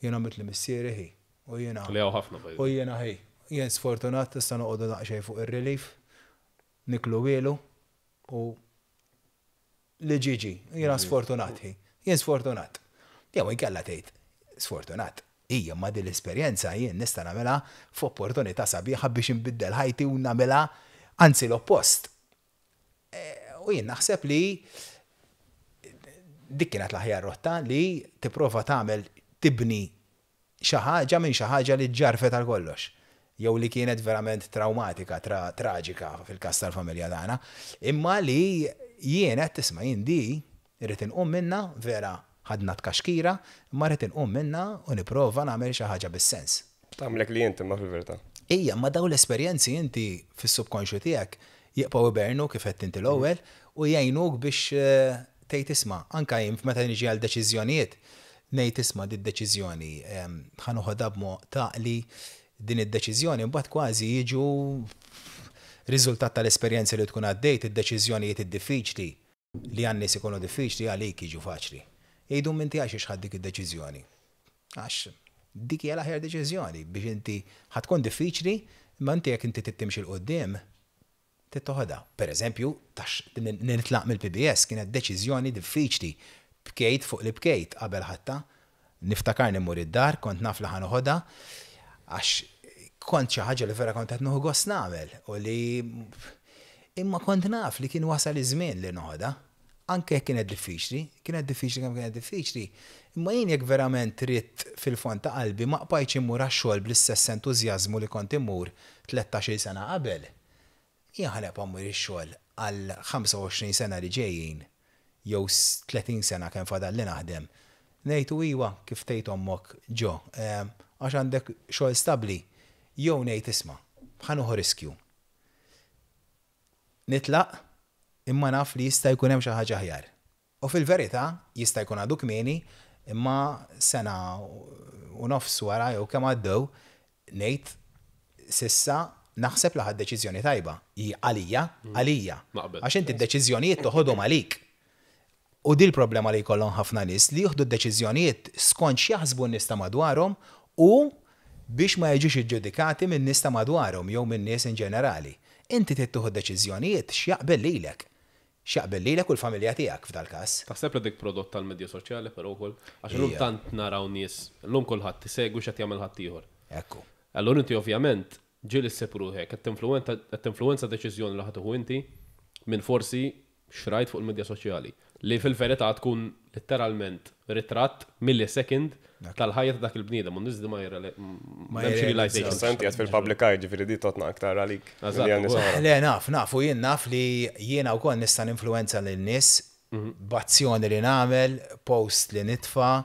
Jien għamilt li missieri ħi, u jiena Li hawn ħafna by the U way. jiena ħi, jien sfortunat tista' noqogħdu daqsxejn fuq ir-relief, niklu wielu u li ġiġi, jiena sfortunat ħi, jien sfortunat. Jew inkella tgħid sfortunat. Ija ma din l-esperjenza jien nista' nagħmilha f'opportunità sabiħa biex inbiddel ħajti u nagħmilha anzi l-oppost. U jien naħseb li dik kienet l-aħjar rotta li tipprova tagħmel tibni xi ħaġa minn xi ħaġa li ġarfet għal kollox. Jew li kienet verament traumatika, traġika fil-każ tal-familja tagħna. Imma li jien qed tisma' jien di irrid inqum minna vera ħadna tkaxkira, imma rrid inqum minna u nipprova nagħmel xi ħaġa bis-sens. Tagħmlek li inti ma fil-verità. Ija, ma daw l-esperjenzi inti fis-subkonxju tiegħek jibqgħu ibernu kif qed inti l-ewwel u jgħinuk biex tgħid isma' anka jien meta niġi għal deċiżjonijiet ngħid isma' di deċiżjoni ħa noħodha b'mod taqli din id-deċiżjoni mbagħad kważi jiġu riżultat tal-esperjenzi li tkun għaddejt id-deċiżjonijiet id-diffiċli li għan-nies ikunu diffiċli għalik jiġu faċli. Jgħidu minti għax ħadt dik id-deċiżjoni. Għax dik hija l-aħjar deċiżjoni biex inti ħa tkun diffiċli, imma inti jekk inti tittimxi 'l quddiem tittoħodha. Per eżempju, tax nitlaq mill-PBS kienet deċiżjoni diffiċli. Bkejt fuq li bkejt qabel ħatta. Niftakarni mmur id-dar, kont naf li ħa noħodha, għax kont xi ħaġa li vera kont qed nieħu gost nagħmel u li imma kont naf li kien wasal iż-żmien li noħodha. Anke jekk kienet diffiċli, kienet diffiċli kemm kienet diffiċli, imma jien jekk verament ridt fil-fond ta' qalbi ma qbajtx immur għax-xogħol bl-istess entużjażmu li kont immur 13-il sena qabel. Jien ħa nibqa' mmur ix-xogħol għal 25 sena li ġejjin jew 30 sena kemm fadalli naħdem. Ngħid u iwa kif tgħid ommok ġo, għax għandek xogħol stabbli, jew ngħid isma', ħa nieħu riskju. Nitlaq imma naf li jista' jkun hemm xi ħaġa aħjar. U fil-verità jista' jkun għadu kmieni imma sena u nofs wara jew kemm għaddew ngħid s'issa naħseb li ħadt deċiżjoni tajba. Hi għalija, għalija. Naqbel. Għax inti d-deċiżjonijiet toħodhom għalik. U di l-problema li jkollhom ħafna nies li jieħdu d-deċiżjonijiet skont x'jaħsbu n-nies ta' madwarhom u biex ma jiġux iġġudikati min-nies ta' madwarhom jew min-nies in ġenerali. Inti trid tieħu deċiżjonijiet x'jaqbel lilek. X'jaqbel lilek u l-familja tiegħek f'dal-każ. Taħseb li dik prodott tal-medja soċjali però wkoll? Għax illum tant naraw nies, illum kulħadd isegwi x'qed jagħmel ħaddieħor. Ekku. Allura inti ovvjament ġieli ssib ruħek qed tinfluwenza deċiżjoni li ħa tieħu inti minn forsi x'rajt fuq il-medja soċjali, li fil-verità tkun letteralment ritratt millisecond tal-ħajja ta' dak il-bniedem u n-nies di ma m'hemmx realization. Issa inti qed fil-public eye, ġifieri di totna aktar għalik. Le naf, naf u jien naf li jiena wkoll nista' ninfluwenza lin-nies b'azzjoni li nagħmel, post li nitfa',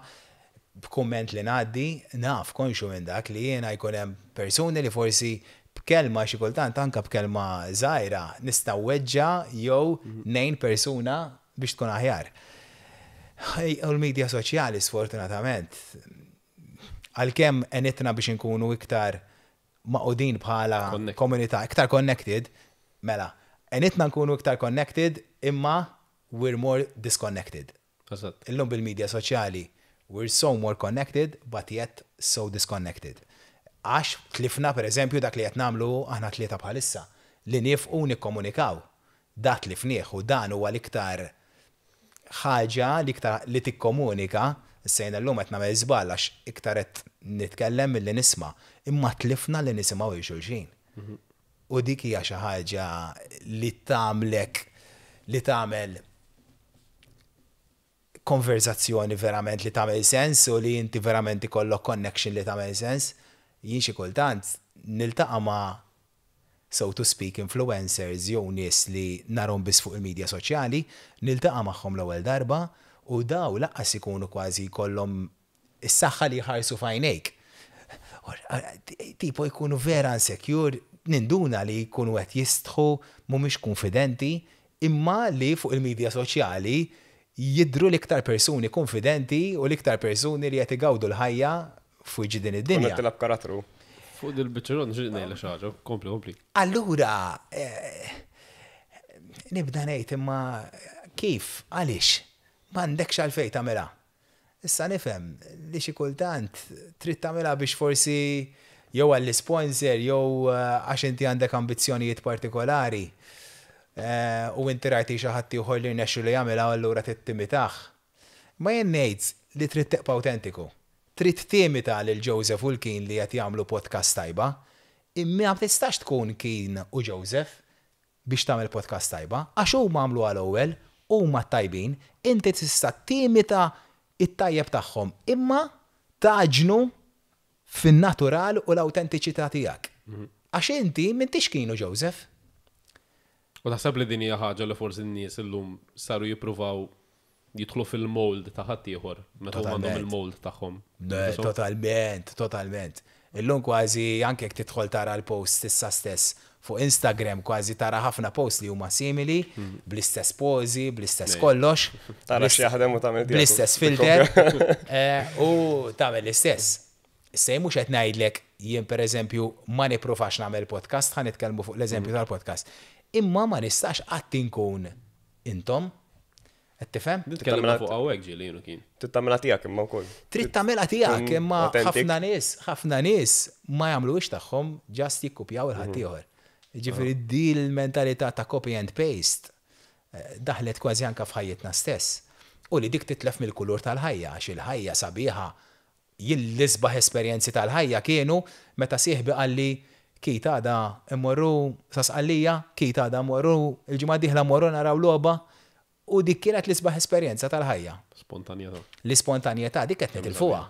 b'kumment li ngħaddi, naf, konxju minn dak li jiena jkun hemm persuni li forsi b'kelma xi kultant anke b'kelma żgħira nista' nweġġa' jew ngħin persuna biex tkun aħjar. U l-media soċjali sfortunatament għalkemm għenitna biex inkunu iktar magħqudin bħala komunità, iktar connected, mela, għenitna nkunu iktar connected imma we're more disconnected. Illum bil-media soċjali we're so more connected but yet so disconnected. Għax tlifna per eżempju dak li qed nagħmlu aħna tlieta bħalissa, li niefqu u nikkomunikaw. Da tlifnieh u dan huwa l-iktar ħaġa l-iktar li tikkomunika, issa jiena llum qed nagħmel żball għax iktar qed nitkellem milli nisma', imma tlifna li nisimgħu lil xulxin. U dik hija xi ħaġa li tagħmlek li tagħmel konverzazzjoni verament li tagħmel sens u li inti verament ikollok connection li tagħmel sens. Jien xi kultant niltaqa' ma' so to speak influencers jew nies li narhom biss fuq il-medja soċjali, niltaqa' magħhom l-ewwel darba u daw lanqas ikunu kważi jkollhom is-saħħa li jħarsu f'għajnejk. Tipo jkunu vera insecure, ninduna li jkunu qed jistħu, mhumiex konfidenti, imma li fuq il-medja soċjali jidhru l-iktar persuni konfidenti u l-iktar persuni li qed igawdu l-ħajja fuq din id-dinja. Tilgħab karattru. Fuq dil-biċċa nixtieq ngħidlek xi ħaġa, kompli, kompli. Allura, nibda ngħid imma kif, għaliex, m'għandekx għalfejn tagħmilha. Issa nifhem li xi kultant trid tagħmilha biex forsi jew għall-sponsor jew għax inti għandek ambizzjonijiet partikolari u inti rajti xi ħadd ieħor li rnexxu li jagħmilha allura trid timitah. Ma jien ngħid li trid tibqa' awtentiku. Trid timita lil Joseph u l-Keen li qed jagħmlu podcast tajba, imma ma tistax tkun Keen u Joseph biex tagħmel podcast tajba, għax huma għamlu għal ewwel, huma tajbin, inti tista' timita it-tajjeb tagħhom, imma tagħġnu fin-natural u l-awtentiċità tiegħek. Għax inti m'intix Keen u Joseph. U taħseb li din hija ħaġa li forsi n-nies illum saru jippruvaw jidħlu fil-mold ta' ħaddieħor meta huma għandhom il-mold tagħhom. Totalment, totalment. Illum kważi anke jekk tidħol tara l-post issa stess fuq Instagram kważi tara ħafna post li huma simili, bl-istess pozi, bl-istess kollox. Tara x'jaħdem u tagħmel tiegħek. Bl-istess filter. U tagħmel l-istess. Issa jien mhux qed ngħidlek jien pereżempju ma nippruvax nagħmel podcast, ħa nitkellmu fuq l-eżempju tal-podcast. Imma ma nistax qatt inkun intom. Qed tifhem? Nitkellmu fuq hawnhekk ġieli jienu kien. Trid tagħmilha tiegħek imma wkoll. Trid tagħmilha tiegħek imma ħafna nies, ħafna nies ma jagħmluhiex tagħhom just jikkupjaw il-ħaddieħor. Ġifieri di l-mentalità ta' copy and paste daħlet kważi anka f'ħajjitna stess. U li dik titlef mill-kulur tal-ħajja, għax il-ħajja sabiħa. Jien l-isbaħ esperjenzi tal-ħajja kienu meta sieħbi qalli Keith għada mmorru sa Sqallija, Keith għada mmorru il-ġimgħa d-dieħla mmorru naraw logħba u dik kienet l-isbaħ esperjenza tal-ħajja. Spontanjetà. L-ispontanjetà dik qed nitilfuha.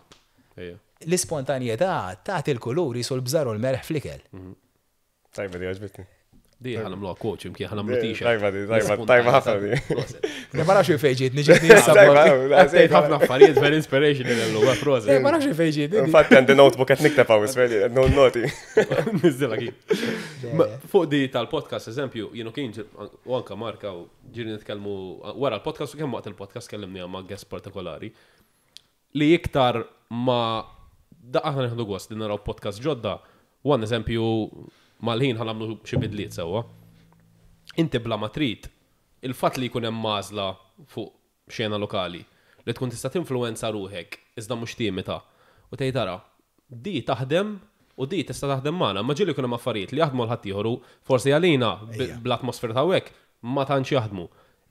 L-ispontanjetà tagħti l-kulur qisu l-bżar u l-melħ fl-ikel. Tajba di għaġbitni. Di ħa nagħmluha quote x'imkien ħa nagħmlu t-shirt. Tajba di, tajba, tajba ħafna di. Ma nafx fejn ġietni, ġietni issa. Tgħid ħafna affarijiet very inspirational illum, eh, proset. Ma nafx fejn ġietni. Infatti għandi notebook qed nikteb hawn isfel, no noti. Niżilha kif. Fuq di tal-podcast eżempju, jienu kien u anka Marka u ġiri nitkellmu wara l-podcast u kemm waqt il-podcast kellimni ma' guest partikolari li iktar ma da aħna nieħdu gost li naraw podcast ġodda, one eżempju mal-ħin ħa nagħmlu xi bidliet sewwa. Inti bla ma trid, il-fatt li jkun hemm għażla fuq xena lokali li tkun tista' tinfluwenza ruħek iżda mhux timita u tgħid ara, di taħdem u di tista' taħdem magħna, imma ġieli jkun hemm affarijiet li jaħdmu għal ħaddieħor u forsi għalina bl-atmosfera ta' hawnhekk ma tantx jaħdmu.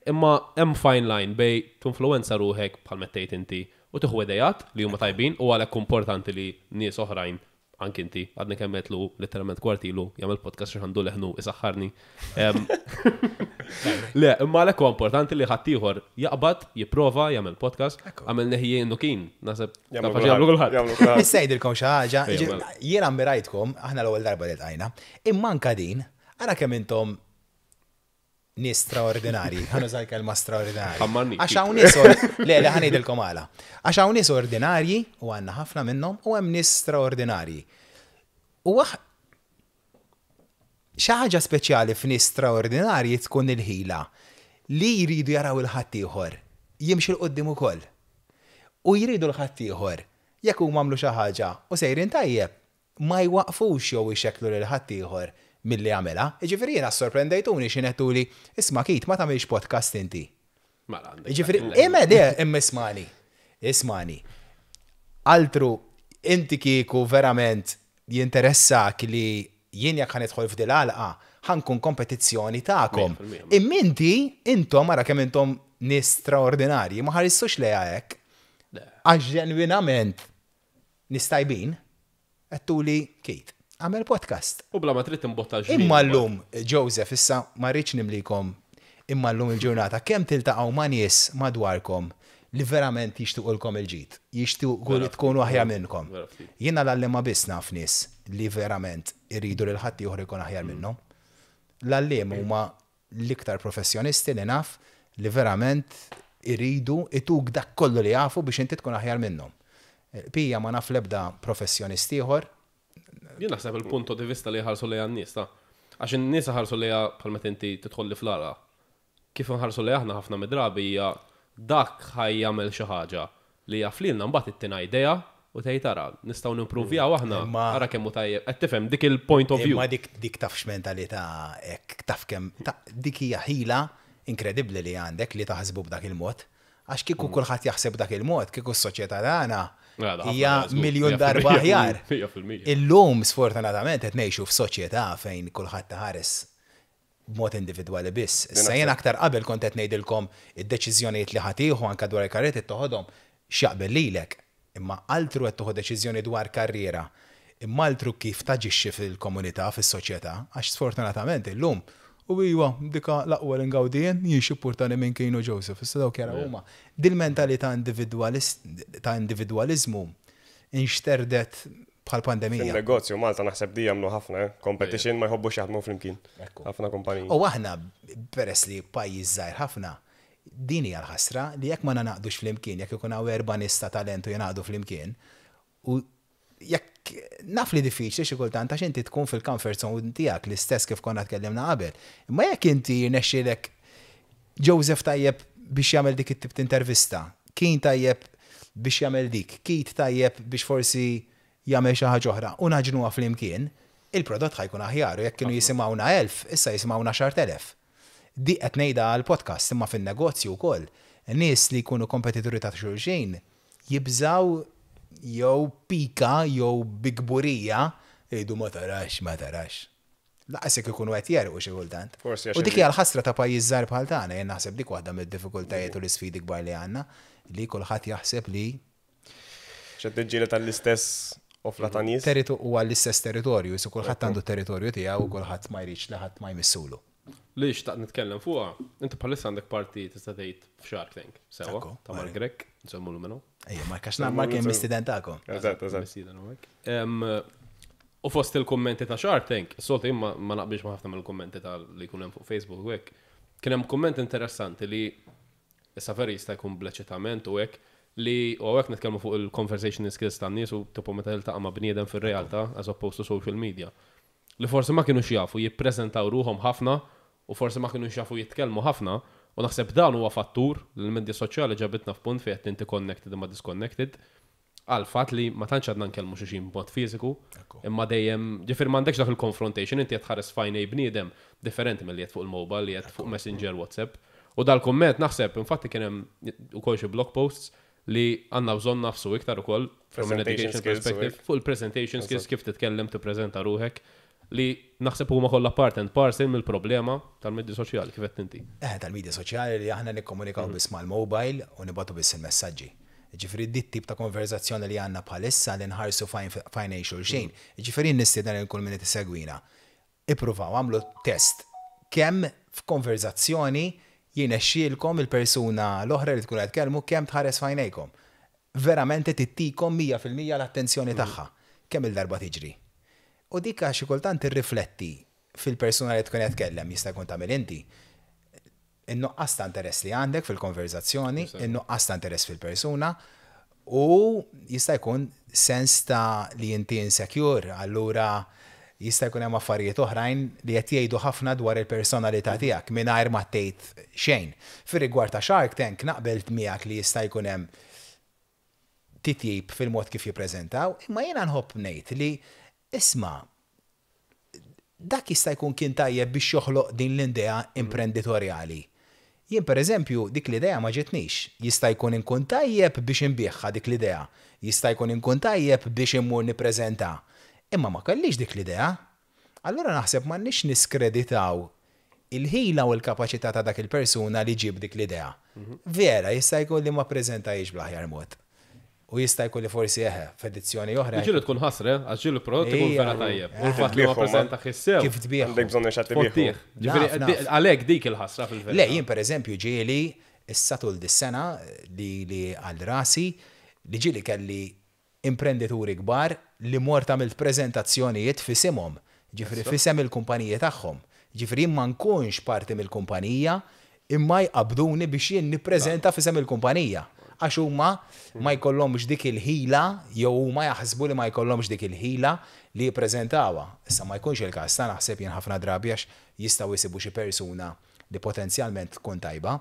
Imma hemm fine line bejn tinfluwenza ruħek bħal ma tgħid inti u tieħu ideat li huma tajbin u għalhekk hu importanti li nies oħrajn, anki inti, għadni kemm għedtlu litteralment kwart ilu jagħmel podcast għax għandu leħnu isaħħarni. Le, imma għalhekk huwa importanti li ħaddieħor jaqbad, jipprova jagħmel podcast, għamilnieh jien u kien, naħseb jagħmlu kulħadd. Nista' ngħidilkom xi ħaġa, jien ammirajtkom, aħna l-ewwel darba li ltqajna, imma anke din, ara kemm intom nies straordinarji, ħa nuża l-kelma straordinarji. Għax hawn nies le le ħa ngħidilkom għala. Għax hawn nies ordinarji u għandna ħafna minnhom u hemm nies straordinarji. U xi ħaġa speċjali f'nies straordinarji tkun il-ħila li jridu jaraw il-ħaddieħor jimxi 'l quddiem ukoll. U jridu l-ħaddieħor jekk huma għamlu xi ħaġa u sejrin tajjeb, ma jwaqqfux jew ixekklu lil ħaddieħor milli jagħmilha. Jiġifieri jiena ssorprendejtuni x'ħin għedtuli, isma' Keith ma tagħmilx podcast inti. Mela għandek. Jiġifieri, imma le, imma ismagħni. Ismagħni. Altru, inti kieku verament jinteressak li jien jekk ħa nidħol f'dil-għalqa, ħa nkun kompetizzjoni tagħkom. Imma inti, intom ara kemm intom nies straordinarji, ma ħaristux lejha hekk. Għax ġenwinament Nies tajbin, għedtuli Keith, agħmel podcast. U bla ma trid timbotta l-ġmiel. Imma llum, Joseph, issa ma rridx nimlikom, imma llum il-ġurnata kemm tiltaqgħu ma' nies madwarkom li verament jixtiqulkom il-ġid, jixtiequ li tkunu aħjar minnkom. Jiena l-għalliema biss naf nies li verament iridu lil ħaddieħor ikun aħjar minnhom. L-għalliema huma l-iktar professjonisti li naf li verament iridu ituk dak kollu li jafu biex inti tkun aħjar minnhom. Pija ma naf l-ebda professjonist ieħor. Jien naħseb il-punto di vista li jħarsu lejha n-nies ta'. Għax in-nies iħarsu lejha bħal meta inti tidħolli fl-għalqa. Kif inħarsu lejha aħna ħafna mid-drabi hija dak ħa jagħmel xi ħaġa li jaf lilna mbagħad ittina idea u tgħid ara, nistgħu nimpruvjaw aħna, ara kemm hu tajjeb. Qed tifhem dik il-point of view. Imma dik dik taf x'mentalità hekk, taf kemm dik hija ħila inkredibbli li għandek li taħsbu b'dak il-mod. Għax kieku kulħadd jaħseb b'dak il-mod, kieku s-soċjetà tagħna hija miljun darba aħjar. Illum sfortunatament qed ngħixu f'soċjetà fejn kulħadd iħares b'mod individwali biss. Issa jien aktar qabel kont qed ngħidilkom id-deċiżjonijiet li ħa tieħu anke dwar il-karriera trid toħodhom x'jaqbel lilek. Imma altru qed tieħu deċiżjoni dwar karriera, imma altru kif taġixxi fil-komunità, fis-soċjetà, għax sfortunatament illum, u iwa, dika l-aqwa li ngawdi jien, jien x'ippurtani minn Keen u Joseph, issa dawk jaraw huma. Dil-mentalità ta' individwaliżmu inxterdet bħal pandemija. Fin-negozju Malta naħseb di jagħmlu ħafna, eh? Competition ma jħobbux jaħdmu flimkien. Ħafna kumpaniji. U aħna peress li pajjiż żgħir ħafna, din hija l-ħasra li jekk ma ningħaqdux flimkien, jekk ikun hawn erba' nies ta' talent u jingħaqdu flimkien, u jekk naf li diffiċli xi kultant għax inti tkun fil-comfort zone tiegħek l-istess kif konna tkellimna qabel. Imma jekk inti jirnexxielek Joseph tajjeb biex jagħmel dik it-tip t'intervista, Keen tajjeb biex jagħmel dik, Keith tajjeb biex forsi jagħmel xi ħaġa oħra u nagħġnuha flimkien, il-prodott ħa jkun aħjar u jekk kienu jisimgħuna 1,000, issa jisimgħuna 10,000. Di qed ngħidha għall-podcast imma fin-negozju wkoll, nies li jkunu kompetituri ta' xulxin jibżgħu jew pika jew bi kburija jgħidu ma tarax, ma tarax. Lanqas jekk ikunu qed jegħrqu xi kultant. Forsi għax U dik hija l-ħasra ta' pajjiż żgħir bħal tagħna, jien naħseb dik waħda mid-diffikultajiet u l-isfidi kbar li għandna, li kulħadd jaħseb li. Xed tiġġieled tal-istess ofla ta' nies. Territu huwa l-istess territorju, jisu kulħadd għandu territorju tiegħu u kulħadd ma jridx li ħadd ma jmissulu. Li xtaqt nitkellem fuqha, inti bħalissa għandek parti tista' tgħid f'Shark Tank, sewwa, Ekku, ta' Mark Grech, nsemmulu minnu. Ejja, Mark, għax Mark kien mistieden tagħkom. Eżatt, eżatt. Mistieden u hekk. U fost il-kommenti ta' Shark Tank, soltu jien ma naqbilx ma' ħafna mill-kommenti ta' li jkun hemm fuq Facebook u hekk. Kien hemm kumment interessanti li issa veri jista' jkun bleċitament u hekk li u hekk nitkellmu fuq il-conversation skills tan-nies u tipo meta tiltaqa' ma' bniedem fir-realtà as opposed to social media. Li forsi ma kienux jafu jippreżentaw ruhom ħafna u forsi ma kienux jafu jitkellmu ħafna u naħseb dan huwa fattur li l-medja soċjali ġabitna f'punt fejn qed inti connected imma disconnected għal fatt li ma tantx għadna nkellmu xulxin b'mod fiżiku, imma dejjem, ġifier m'għandekx dak il-confrontation, inti qed tħares f'għajnej bniedem differenti milli qed fuq il-mobile, li qed fuq Messenger, WhatsApp. U dal-kumment naħseb, infatti kien hemm ukoll xi blog posts li għandna bżonn nafsu iktar ukoll from an Presentation education skills u perspective, hekk. fuq il-presentation skills, kif titkellem, tippreżenta ruħek, li naħseb huma kollha part and parcel mill-problema tal-medji soċjali kif qed inti. Tal-medja soċjali li aħna nikkomunikaw biss mal-mobile u nibatu biss il-messaġġi. Ġifieri dit tip ta' konverzazzjoni li għandna bħalissa li nħarsu f'għajnejn xulxin. Ġifieri nistieden lil kull min qed isegwina. Ippruvaw għamlu test kemm f'konverzazzjoni jirnexxielkom il-persuna l-oħra li tkun qed tkellmu kemm tħares f'għajnejkom. Verament tittikom 100% l-attenzjoni tagħha. Kemm il-darba tiġri. U dik xi kultant tirrifletti fil-persuna li tkun qed tkellem jista' jkun tagħmel inti. In-nuqqas ta' interess li għandek fil-konverzazzjoni, in-nuqqas ta' interess fil-persuna u jista' jkun sens ta' li inti insecure, allura jista' jkun hemm affarijiet oħrajn li qed jgħidu ħafna dwar il-personalità tiegħek mingħajr ma tgħid xejn. Fir-rigward ta' Shark Tank naqbel miegħek li jista' jkun hemm titjib fil-mod kif jippreżentaw, imma jiena nħobb ngħid li isma' dak jista' jkun kien tajjeb biex joħloq din l-idea imprenditorjali. Jien per eżempju dik l-idea ma ġitnix. Jista' jkun inkun tajjeb biex inbiegħha dik l-idea. Jista' jkun inkun tajjeb biex immur nippreżenta. Imma ma kellix dik l-idea. Allura naħseb m'għandniex niskreditaw il-ħila u l-kapaċità ta' dak il-persuna li ġib dik l-idea. Vera, jista' jkun li ma preżentajiex bl-aħjar mod. U jista' jkun li forsi eħe, f'edizzjoni oħra. Ġieli tkun ħasra, għax ġieli prodott ikun vera tajjeb. U l-fatt li ma Tbieħhom, ma. preżenta sew. Kif tbieħ. Għandek bżonn xi ħadd Fottih. ibieħu. Ġifieri, Naf, naf. għalhekk dik il-ħasra fil-verità. Le, jien per eżempju ġieli issa tul dis-sena li għal rasi li ġieli kelli imprendituri kbar li mort għamilt prezentazzjonijiet f'isimhom, ġifieri f'isem il-kumpaniji tagħhom. Ġifieri ma nkunx parti mill-kumpanija imma jqabduni biex jien nippreżenta f'isem il-kumpanija. Għax huma ma jkollhomx dik il-ħila jew huma jaħsbu li ma jkollhomx dik il-ħila li jippreżentawha. Issa ma jkunx il-każ ta' naħseb jien ħafna drabi għax jistgħu jsibu xi persuna li potenzjalment tkun tajba,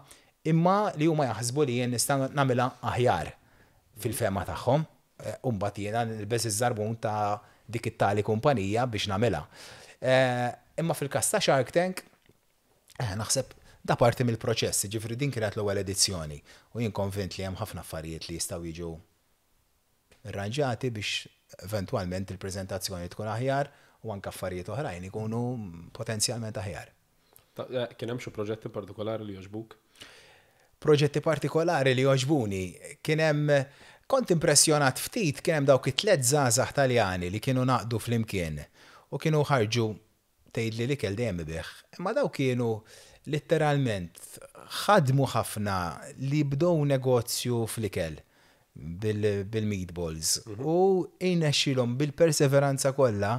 imma li huma jaħsbu li jien nista' nagħmilha aħjar fil-fema tagħhom. U mbagħad jiena nilbes iż-żarbun ta' dik it-tali kumpanija biex nagħmilha. Imma fil-każ ta' Shark Tank, naħseb da parti mill-proċess, ġifieri din kienet l-ewwel edizzjoni u jien konvint li hemm ħafna affarijiet li jistgħu jiġu irranġati biex eventwalment il-preżentazzjoni tkun aħjar u anke affarijiet oħrajn ikunu potenzjalment aħjar. Kien hemm xi proġetti partikolari li jogħġbuk? Proġetti partikolari li jogħġbuni, kien hemm kont impressjonat ftit kien hemm dawk it-tliet żgħażagħ Taljani li kienu naqdu flimkien u kienu ħarġu tgħid li l-ikel dejjem ibigħ. Imma daw kienu letteralment ħadmu ħafna li bdew negozju fl-ikel bil-meatballs u irnexxielhom bil-perseveranza kollha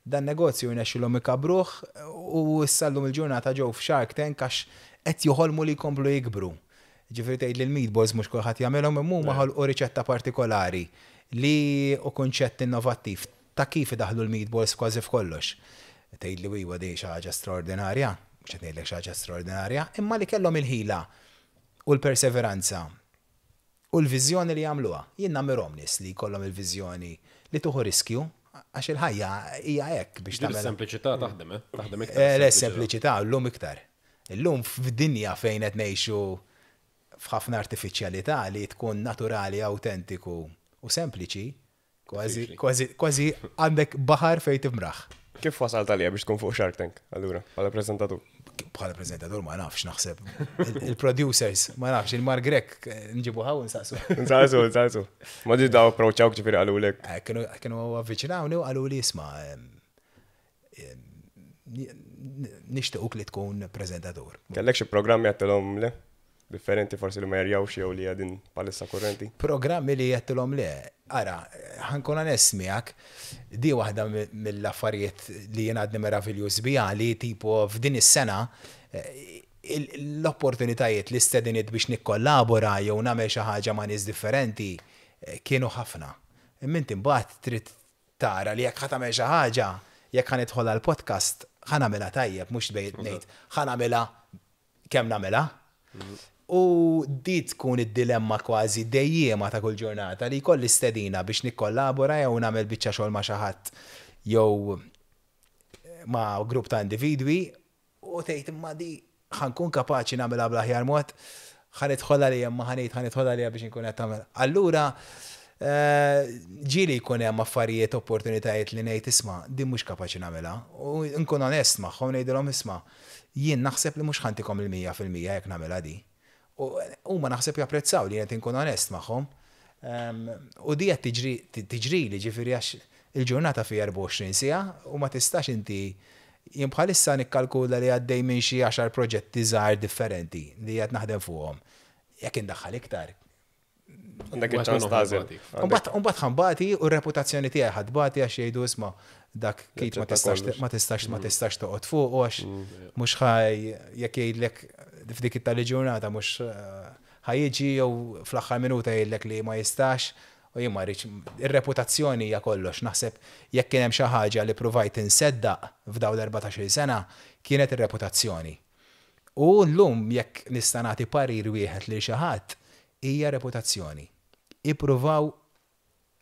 dan negozju irnexxielhom ikabruh u issa llum il-ġurnata ġew f'Shark Tank għax qed joħolmu li jkomplu jikbru. Ġifieri tgħid li l-meatballs mhux kulħadd jagħmilhom imma huma ħolqu riċetta partikolari li u kunċett innovattiv ta' kif idaħlu l-meatballs kważi f'kollox. Tgħid li iwa di xi ħaġa straordinarja, mhux qed ngħidlek xi ħaġa straordinarja, imma li kellhom il-ħila u l-perseveranza u l-viżjoni li jagħmluha. Jien nammirhom nies li jkollhom il-viżjoni li tuħu riskju għax il-ħajja hija hekk biex Ġieli tagħmel. Sempliċità taħdem, eh? Taħdem iktar. Le, sempliċità llum iktar. Illum f'dinja fejn qed ngħixu f'ħafna artifiċjalità li tkun naturali, autentiku u sempliċi, kważi Diffiċli. kważi kważi għandek baħar fejn timraħ. Kif wasalt għalija biex tkun fuq Shark Tank, allura, bħala preżentatur? Bħala prezentatur ma nafx naħseb. Il-producers, ma nafx, il-Mark Grech nġibu ħaw nsaqsu. Nsaqsu, nsaqsu. Ma ġi daw approachawk ġifieri qalulek. Eh, kienu avviċinawni u qalu li isma' nixtiequk li tkun prezentatur. Kellek xi programmi għattilhom le? Differenti forsi li ma jerjawx jew li għadin palissa kurrenti? Programmi li għattilhom le. Ara, ħa nkun onest miegħek, di waħda mill-affarijiet li jien għadni meraviljuż biha li tipo f'din is-sena l-opportunitajiet li stedinit biex nikkollabora jew nagħmel xi ħaġa ma' nies differenti kienu ħafna. Imma inti mbagħad trid tara li jekk ħa tagħmel xi ħaġa, jekk ħa nidħol għal podcast, ħa nagħmilha tajjeb, mhux bejn ngħid ħa nagħmilha kemm nagħmilha. U di tkun id-dilemma kważi dejjema ta' kull ġurnata li jkolli stedina biex nikkollabora jew nagħmel biċċa xogħol ma' xi ħadd jew ma' grupp ta' individwi u tgħid imma di ħa nkun kapaċi nagħmilha bl-aħjar mod, ħa nidħol għalija imma ħa ngħid ħa nidħol għalija biex inkun qed tagħmel. Allura ġieli jkun hemm affarijiet, opportunitajiet li ngħid isma' din mhux kapaċi nagħmilha. U nkun onest magħhom ngħidilhom isma' jien naħseb li mhux ħa ntikom il-100% jekk nagħmilha di. U huma naħseb japprezzaw li qed inkun onest magħhom. U di qed tiġri tiġri li ġifieri għax il-ġurnata fi 24 siegħa u ma tistax inti jien bħalissa nikkalkula li għaddej minn xi 10 proġetti żgħar differenti li qed naħdem fuqhom. Jekk indaħħal iktar. Għandek iċ-ċans tagħżel. Umbagħad ħa nbati u r-reputazzjoni tiegħi ħa tbati għax jgħidu isma' dak Keith ma tistax ma tistax ma tistax toqgħod fuq għax mhux ħaj jekk jgħidlek f'dik it-tali ġurnata mhux ħa jiġi jew fl-aħħar minuta jgħidlek li ma jistax u jien ma rridx ir-reputazzjoni hija kollox. Naħseb jekk kien hemm xi ħaġa li pruvajt inseddaq f'dawn l-14-il sena kienet ir-reputazzjoni. U llum jekk nista' nagħti parir wieħed lil xi ħadd hija reputazzjoni. Ippruvaw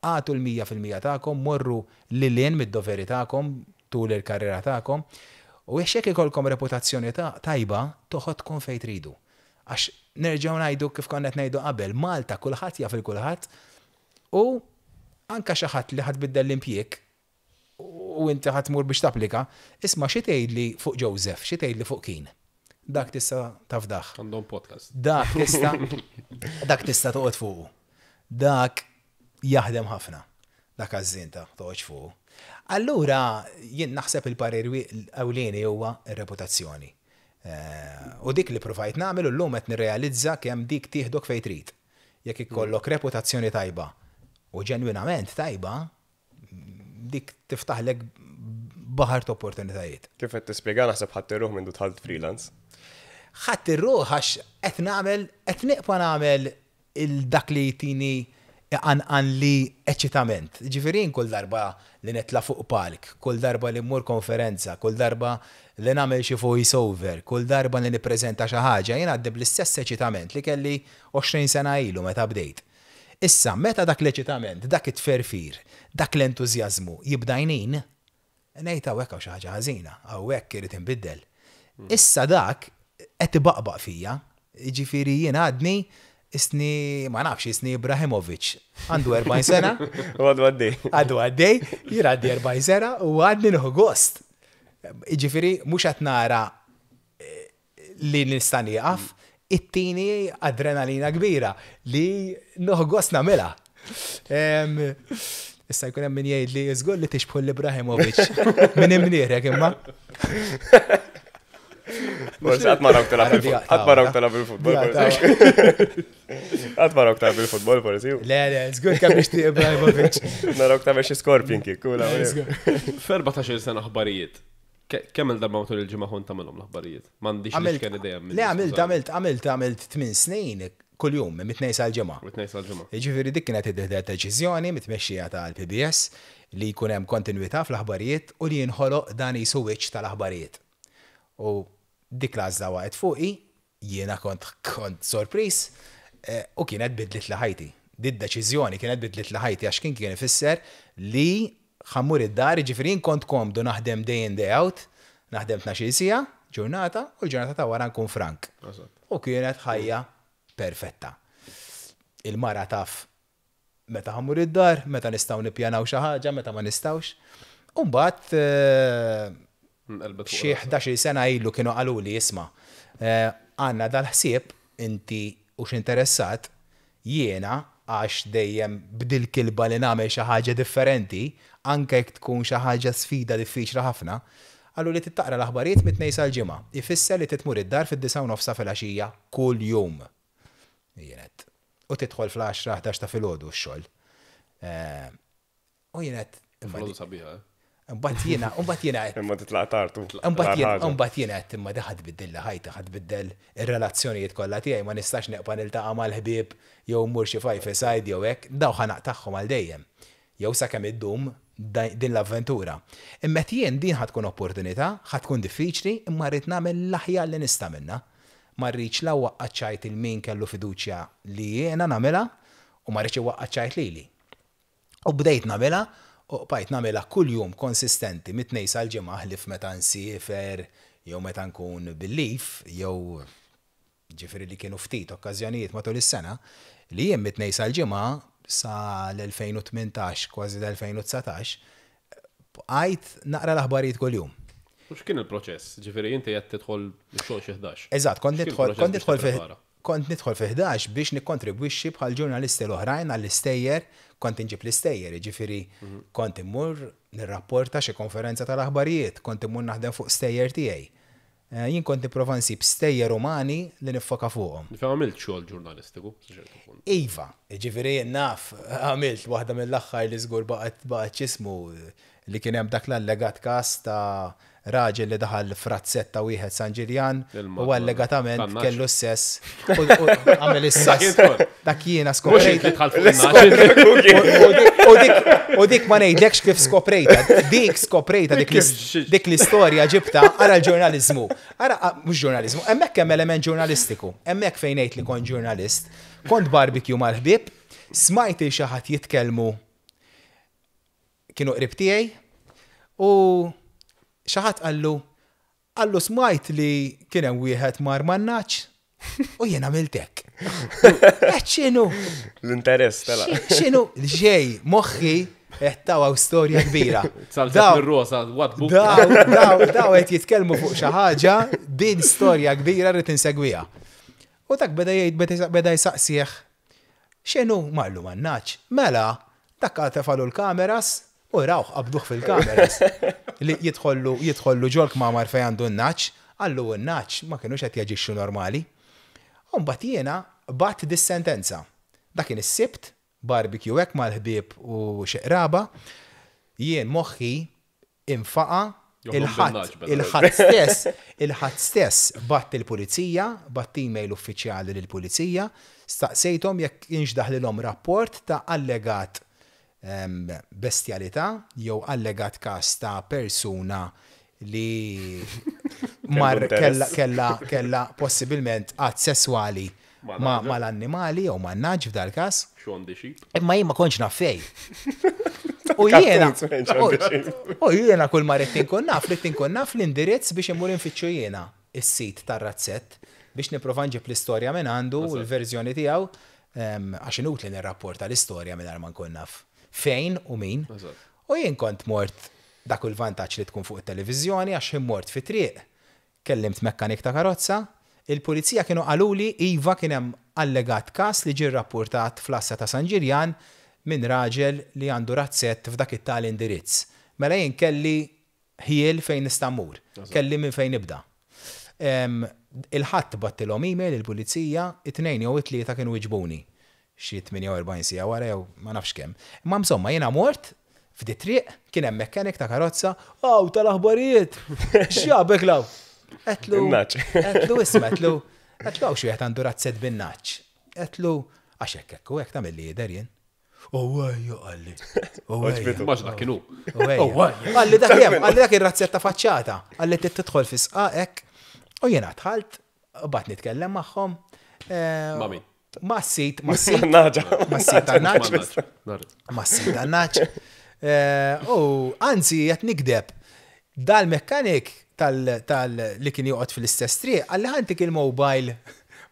agħtu l-100% tagħkom, morru lil hinn mid-doveri tagħkom tul il-karriera tagħkom u jekk ikolkom reputazzjoni tajba toħodkom fejn tridu. Għax nerġgħu ngħidu kif konna qed ngħidu qabel, Malta kulħadd jaf il kulħadd u anka xi ħadd li ħa tbiddel l-impjieg u inti ħa tmur biex tapplika, isma' xi tgħidli fuq Joseph, xi tgħidli fuq kien. Dak tista' tafdah. Għandhom podcast. Dak tista' toqgħod fuqu. Dak jaħdem ħafna. Dak għażżien ta' toqgħodx fuqu. Allura jien naħseb il-parir ewlieni huwa ir-reputazzjoni. U dik li provajt nagħmel u llum qed nirrealizza kemm dik tieħdok fejn trid. Jekk ikollok reputazzjoni tajba u ġenwinament tajba, dik tiftaħlek baħar ta' opportunitajiet. Kif qed tispjega naħseb ħadd irruħ minn dħalt freelance. Ħadd irruħ għax qed nagħmel qed nibqa' nagħmel il-dak li jtini għan li eċitament. Ġifieri kull darba li nitla' fuq palk, kull darba li mmur konferenza, kull darba li nagħmel xi voice over, kull darba li nippreżenta xi ħaġa, jien għaddi bl-istess eċitament li kelli 20 sena ilu meta bdejt. Issa, meta dak l-eċitament, dak it-tferfir, dak l-entużjażmu jibda jnin, ngħid hawnhekk hawn xi ħaġa ħażina, hawnhekk irid inbiddel. Issa dak qed ibaqbaq fija, jiġifieri jien għadni isni, ma nafx, isni Ibrahimovic. Għandu 40 sena. U għadu għaddej. Għadu għaddej, jien għaddi 40 sena u għadni nieħu gost. Jiġifieri, mhux qed nara li nista' nieqaf, ittini adrenalina kbira li nieħu gost nagħmilha. Issa jkun hemm min jgħid li żgur li tixbħu l-Ibrahimovic minn imnierek imma. Forsi qatt ma rawk tilgħab qatt ma rawk tilgħab il-futbol. Qatt ma rawk tilgħab il-futbol forsi. Le, le, żgur kemm nixtieq Ibrahimovic. Narawk tagħmel xi scorpion kick. F'14 sena aħbarijiet. Kemm il-darba matul il-ġimgħa kont tagħmelhom l-aħbarijiet? M'għandix l-iċken idea. Le, għamilt, għamilt, għamilt, għamilt 8 snin kull-jum, mit-tnejn sal-ġimgħa. Mit-tnejn sal-ġimgħa. Jiġifieri dik kienet id deċiżjoni mit-tmexxija tal-PBS li jkun hemm kontinwità fl-aħbarijiet u li jinħoloq dan jisu wiċċ tal-aħbarijiet. U dik l-għażla waqgħet fuqi, jiena kont sorpriż u kienet bidlitli ħajti. Di deċiżjoni kienet bidlitli ħajti għax kien ifisser li ħa mmur id-dar, ġifieri kont komdu naħdem day in day out, naħdem 12 siegħa, ġurnata, u l-ġurnata ta' wara nkun frank. U kienet ħajja perfetta. Il-mara taf meta ħa mmur id-dar, meta nistgħu nippjanaw xi ħaġa, meta ma nistgħux. U mbagħad Xi 11-il sena ilu kienu qaluli isma', għandna dal-ħsieb, inti hux interessat, jiena għax dejjem b'dil-kilba li nagħmel xi ħaġa differenti, anke jekk tkun xi ħaġa sfida diffiċli ħafna, qaluli trid taqra l-aħbarijiet mit-Tnejn sal-Ġimgħa. Ifisser li trid tmur id-dar fid-disgħa u nofs ta' filgħaxija kuljum. Jien għedt. U tidħol fl-għaxra, 11 ta' filgħodu x-xogħol. U jien għedt. Filgħodu sabiħa, eh? Mbagħad jiena, mbagħad jiena għedt. Imma titlaq tard. Mbagħad jiena, mbagħad jiena għedt imma di ħa tbiddilli ħajti, ħa tbiddel ir-relazzjonijiet kollha tiegħi, ma nistax neqpa' niltaqa' mal-ħbieb jew mmur xi five a side jew hekk, dawn ħa naqtagħhom għal dejjem. Jew sakemm iddum din l-avventura. Imma għedt jien din ħa tkun opportunità, ħa tkun diffiċli, imma rrid nagħmel l-aħjar li nista' minnha. Ma rridx la waqqa' ċajt 'il min kellu fiduċja li jiena nagħmilha u ma rridx iwaqqa' ċajt lili. U bdejt nagħmilha u qbajt nagħmilha kuljum konsistenti mit-Tnejn sal-Ġimgħa ħlief meta nsiefer jew meta nkun bil-leave jew ġifieri li kienu ftit okkażjonijiet matul is-sena li jien mit-Tnejn sal-Ġimgħa sa l-2018 kważi l-2019 bqajt naqra l-aħbarijiet kuljum. U x'kien il-proċess? Ġifieri inti qed tidħol ix-xogħol xi 11. Eżatt, kont nidħol kont nidħol fi Kont nidħol fi 11 biex nikkontribwixxi bħall-ġurnalisti l-oħrajn għall-istejjer, kont inġib l-istejjer, jiġifieri kont immur nirrapporta xi konferenza tal-aħbarijiet, kont immur naħdem fuq stejjer tiegħi. Jien kont nipprova nsib stejjer umani li niffoka fuqhom. Ġifieri għamilt xogħol ġurnalistiku sa ċertu punt. Iva, jiġifieri jien naf, għamilt waħda mill-aħħar li żgur baqgħet baqgħet x'ismu, Li kien hemm dak l-allegat każ ta' raġel li daħal f'razzett ta' wieħed San Ġiljan u allegatament kellu s-sess u għamel is-sess. Dak jiena skoprejt. U dik ma ngħidlekx kif skoprejta. Dik skoprejta dik l-istorja ġibta ara l-ġurnaliżmu. Ara mhux ġurnaliżmu, hemmhekk hemm element ġurnalistiku. Hemmhekk fejn ngħid li kont ġurnalist. Kont barbecue mal-ħbieb, smajt il xi ħadd jitkellmu Kienu qrib tiegħi u xi ħadd qallu, qallu smajt li kien hemm wieħed mar man-nagħaġ u jien għamilt hekk. Qed x'inhu? L-interess tela. X'inhu? Xej, moħħi qed taw storja kbira. Salzet mir-rosa, what book. Daw, daw, daw qed jitkellmu fuq xi ħaġa, din storja kbira rrid insegwiha. U dak beda jgħid beda jsaqsih X'inhu marlu man-nagħaġ? Mela, dak tefalu l-kameras u rawh qabduh fil-kameras. Li jidħollu jidħollu ġol-kmamar fejn għandu n-nagħaġ, qallu n-nagħaġ ma kinux qed jaġixxu normali. U mbagħad jiena bgħatt dis-sentenza. Dak kien is-Sibt, barbecue hekk mal-ħbieb u xi qraba. Jien moħħi infaqa' il-Ħadd, il-Ħadd stess, il-Ħadd stess bgħatt il-pulizija, bgħatt email uffiċjali lill-pulizija, staqsejthom jekk kienx daħlilhom rapport ta' allegat bestjalità jew allegat każ ta' persuna li mar kellha kellha kellha possibilment att sesswali mal-annimali jew man-nagħaġ f'dal-każ. Imma jien ma kontx naf fejn. U jiena u jiena kull ma ridt inkun naf, ridt inkun naf l-indirizz biex immur infittxu jiena is-sit tar-razzett biex nipprova nġib l-istorja minn għandu u l-verżjoni tiegħu għax inutli nirrapporta l-istorja mingħajr ma nkun naf fejn u min. U jien kont mort dak hu l-vantaġġ li tkun fuq it-televiżjoni għax ħin mort fit-triq Kellimt mekkanik ta' karozza, il-pulizija kienu qaluli iva kien hemm allegat każ li ġie rrappurtat fl-għassa ta' San Ġiljan minn raġel li għandu razzett f'dak it-tali indirizz. Mela jien kelli ħjiel fejn nista' mmur. Kelli minn fejn nibda. Il-Ħadd bgħattilhom email il-pulizija, it-Tnejn jew it-Tlieta kienu wiġbuni. Xi 48 siegħa wara jew ma nafx kemm. Imma insomma jiena mort f'di triq, kien hemm mechanic ta' karozza, aw tal-aħbarijiet! X'ġabek law? Għedtlu, għedtlu isma' għedtlu, għedtlu hawn xi wieħed għandu razzett bin-nagħaġ. Għedtlu, għax hekk hekk u hekk tagħmilli jidher jien. Oh ejja qalli. Oh ejja. Mhux dak kien hu. Oh ejja. Qalli dak hemm, qalli dak ir-razzett ta' faċċata. Qalli trid tidħol fi sqaq hekk. U jiena dħalt, bqgħet nitkellem magħhom. Ma' min? Ma' sit, ma' sit. Naġa. Ma' sit tan-naġ. Ma' sit tan-naġ. Eh, u anzi, qed nikdeb. Dal-mekkanik tal li kien joqgħod fl-istess triq, għalli ħantik il-mobile,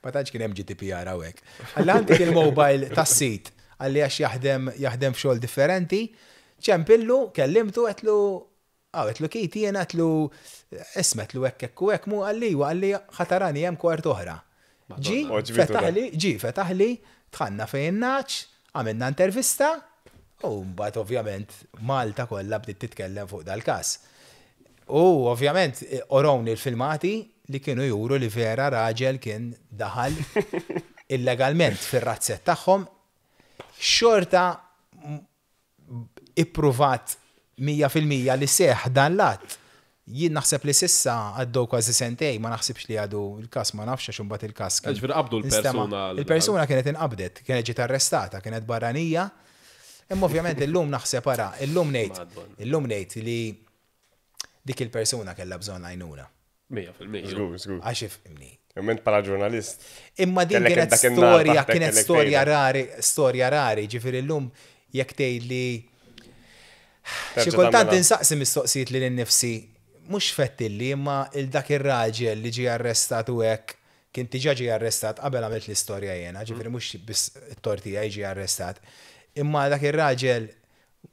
ma tantx kien hemm GDPR hawnhekk. Għalli ħantik il-mobile tas-sit, għalli għax jaħdem jaħdem f'xogħol differenti, ċempillu, kellimtu, għetlu. Aw, għedtlu Keith jiena għedtlu isma' għedtlu hekk hekk u hekk mhu qalli iwa qalli ħa tarani hemm kwart oħra. Ġie, fetaħli, ġie fetaħli, dħalna fejn in-nagħaġ, għamilna intervista u mbagħad ovvjament Malta kollha bdiet titkellem fuq dal-każ. U ovvjament orowni l-filmati li kienu juru li vera raġel kien daħal illegalment fir-razzett tagħhom xorta ippruvat 100% li seħħ dan l-att. Jien naħseb li s'issa għaddew kważi sentejn, ma naħsibx li għadu l-każ, ma nafx għax imbagħad il-każ kien. Ġifieri qabdu l-persuna. Il-persuna kienet inqabdet, kienet ġiet arrestata, kienet barranija. Imma ovvjament illum naħseb ara, illum ngħid, illum ngħid li dik il-persuna kellha bżonn għajnuna. 100%. Żgur, żgur. Għax ifhimni. Imma int bħala ġurnalist. Imma din Kellek kienet dak in-nar storja, taħtek kienet kellek storja tgħidha. rari, storja rari, ġifieri llum jekk tgħidli xi Terġa' kultant tagħmilha. insaqsi mistoqsijiet lili nnifsi, mhux fettilli imma il dak ir-raġel li ġie arrestat u hekk, kien diġà ġie arrestat qabel għamilt l-istorja jiena, ġifieri mhux biss it-tort tiegħi ġie arrestat. Imma dak ir-raġel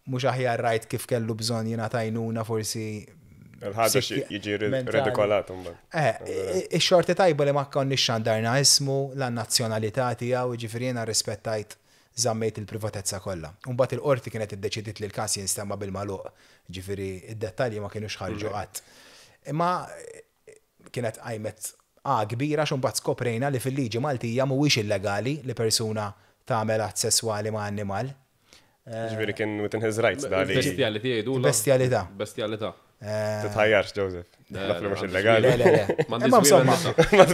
mhux aħjar rajt kif kellu bżonn jingħata għajnuna forsi Il-ħaġa jiġi redikolat imbagħad. Eh, ix-xorti tajba li ma konniex xandarna ismu, la nazzjonalità tiegħu, jiġifieri jiena rrispettajt żammejt il-privatezza kollha. U mbagħad il-qorti kienet iddeċidiet li l-każ jinstema' bil-magħluq, jiġifieri d-dettalji ma kinux ħarġu qatt. Imma kienet qajmet għa kbira għax imbagħad skoprejna li fil-liġi Maltija mhuwiex illegali li persuna tagħmel att sesswali ma' annimal. Ġifieri kien within his rights da li. Bestjalità jgħidulha. Bestjalità. Bestjalità. Titħajjarx, Joseph. Naf li mhux illegali. Le, le, le. M'għandix Imma insomma.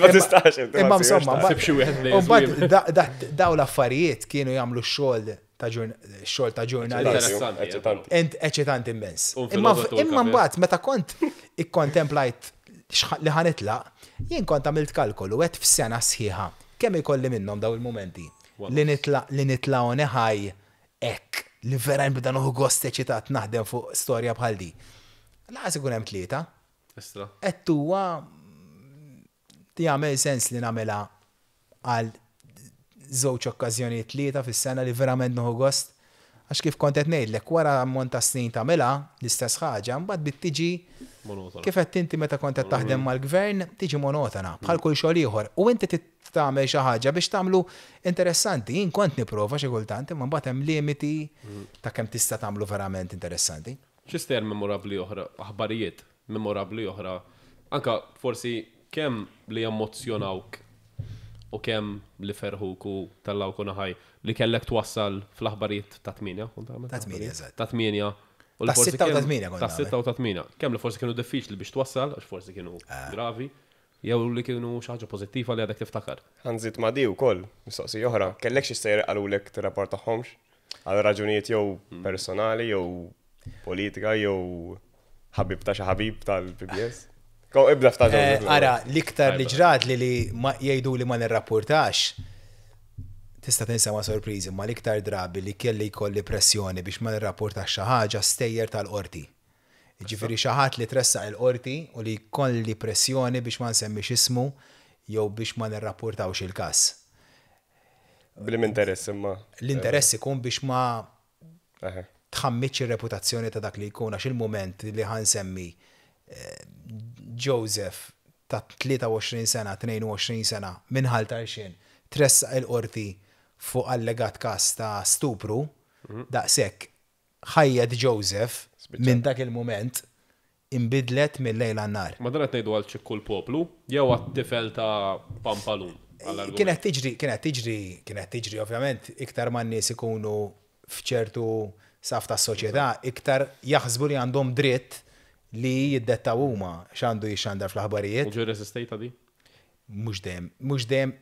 Ma tistax. Imma insomma. Sib xi wieħed li Mbagħad daw l-affarijiet kienu jagħmlu x-xogħol ta' xogħol ta' ġurnalist. Eċitanti. Ent eċitanti immens. Imma imma mbagħad meta kont ikkontemplajt li ħanitlaq, jien kont għamilt kalkolu għedt f'sena sħiħa kemm ikolli minnhom daw il-mumenti li nitlaq li nitla' on a high hekk li vera nibda nieħu gost eċitat naħdem fuq storja bħal di. Lanqas ikun hemm tlieta. Istra. Qed huwa jagħmel sens li nagħmilha għal żewġ okkażjonijiet tlieta fis-sena li verament nieħu gost. Għax kif kont qed ngħidlek, wara ammont ta' snin tagħmilha l-istess ħaġa, mbagħad bdiet tiġi Monotona. kif għedt inti meta kont qed taħdem mal-gvern, tiġi monotona, bħal kull xogħol ieħor. U inti trid tagħmel xi ħaġa biex tagħmlu interessanti. Jien kont nipprova xi kultant, imma mbagħad hemm limiti ta' kemm tista' tagħmlu verament interessanti. Xi stejjer memorabbli oħra, aħbarijiet memorabbli oħra, anka forsi kemm li emmozzjonawk u kemm li ferħuk u tellgħuk u naħaj li kellek twassal fl-aħbarijiet ta' tmienja, kont tagħmel? Ta' tmienja, eżatt. Ta' tmienja. U li Ta' forsi sitta u ta' kemm- tmienja kont Ta' nagħmel. sitta u ta' tmienja. Kemm li forsi kienu diffiċli biex twassal, għax forsi kienu gravi, jew li kienu xi ħaġa pożittiva li għadek tiftakar. Ħa nżid ma' di wkoll, mistoqsija oħra, kellek xi stejjer qalulek tirrapportahomx għal raġunijiet jew personali jew politika jew ħabib ta' xi ħabib tal-PBS? Ko ibda fta' Eh, Ara, l-iktar li ġrat li li ma jgħidu li ma nirrapportax, tista' tinsema sorpriżi, ma l-iktar drabi li kelli jkolli pressjoni biex ma nirrapportax xi ħaġa stejjer tal-qorti. Ġifieri xi ħadd li tressaq il-qorti u li jkolli pressjoni biex ma nsemmix ismu jew biex ma nirrapportawx il-każ. Blim interess imma. L-interess ikun biex ma Eħe. tħammitx ir-reputazzjoni ta' dak li jkun għax il-mument li ħa nsemmi Joseph ta' 23 sena, 22 sena minn Ħal Tarxien tressaq il-qorti fuq allegat każ ta' stupru, daqshekk ħajjet Joseph minn dak il-mument inbidlet mil-lejl għan-nhar. Ma dan qed ngħidu għal ċikku l-poplu jew għat-tifel ta' Pampalun? għall-argument. Kienet tiġri, kienet tiġri, kienet tiġri ovvjament iktar ma n-nies ikunu f'ċertu saf tas-soċjetà, iktar jaħsbu li għandhom dritt li jiddettaw huma x'għandu jixxandar fl-aħbarijiet. U ġi rreżistejta di? Mhux dejjem, mhux dejjem,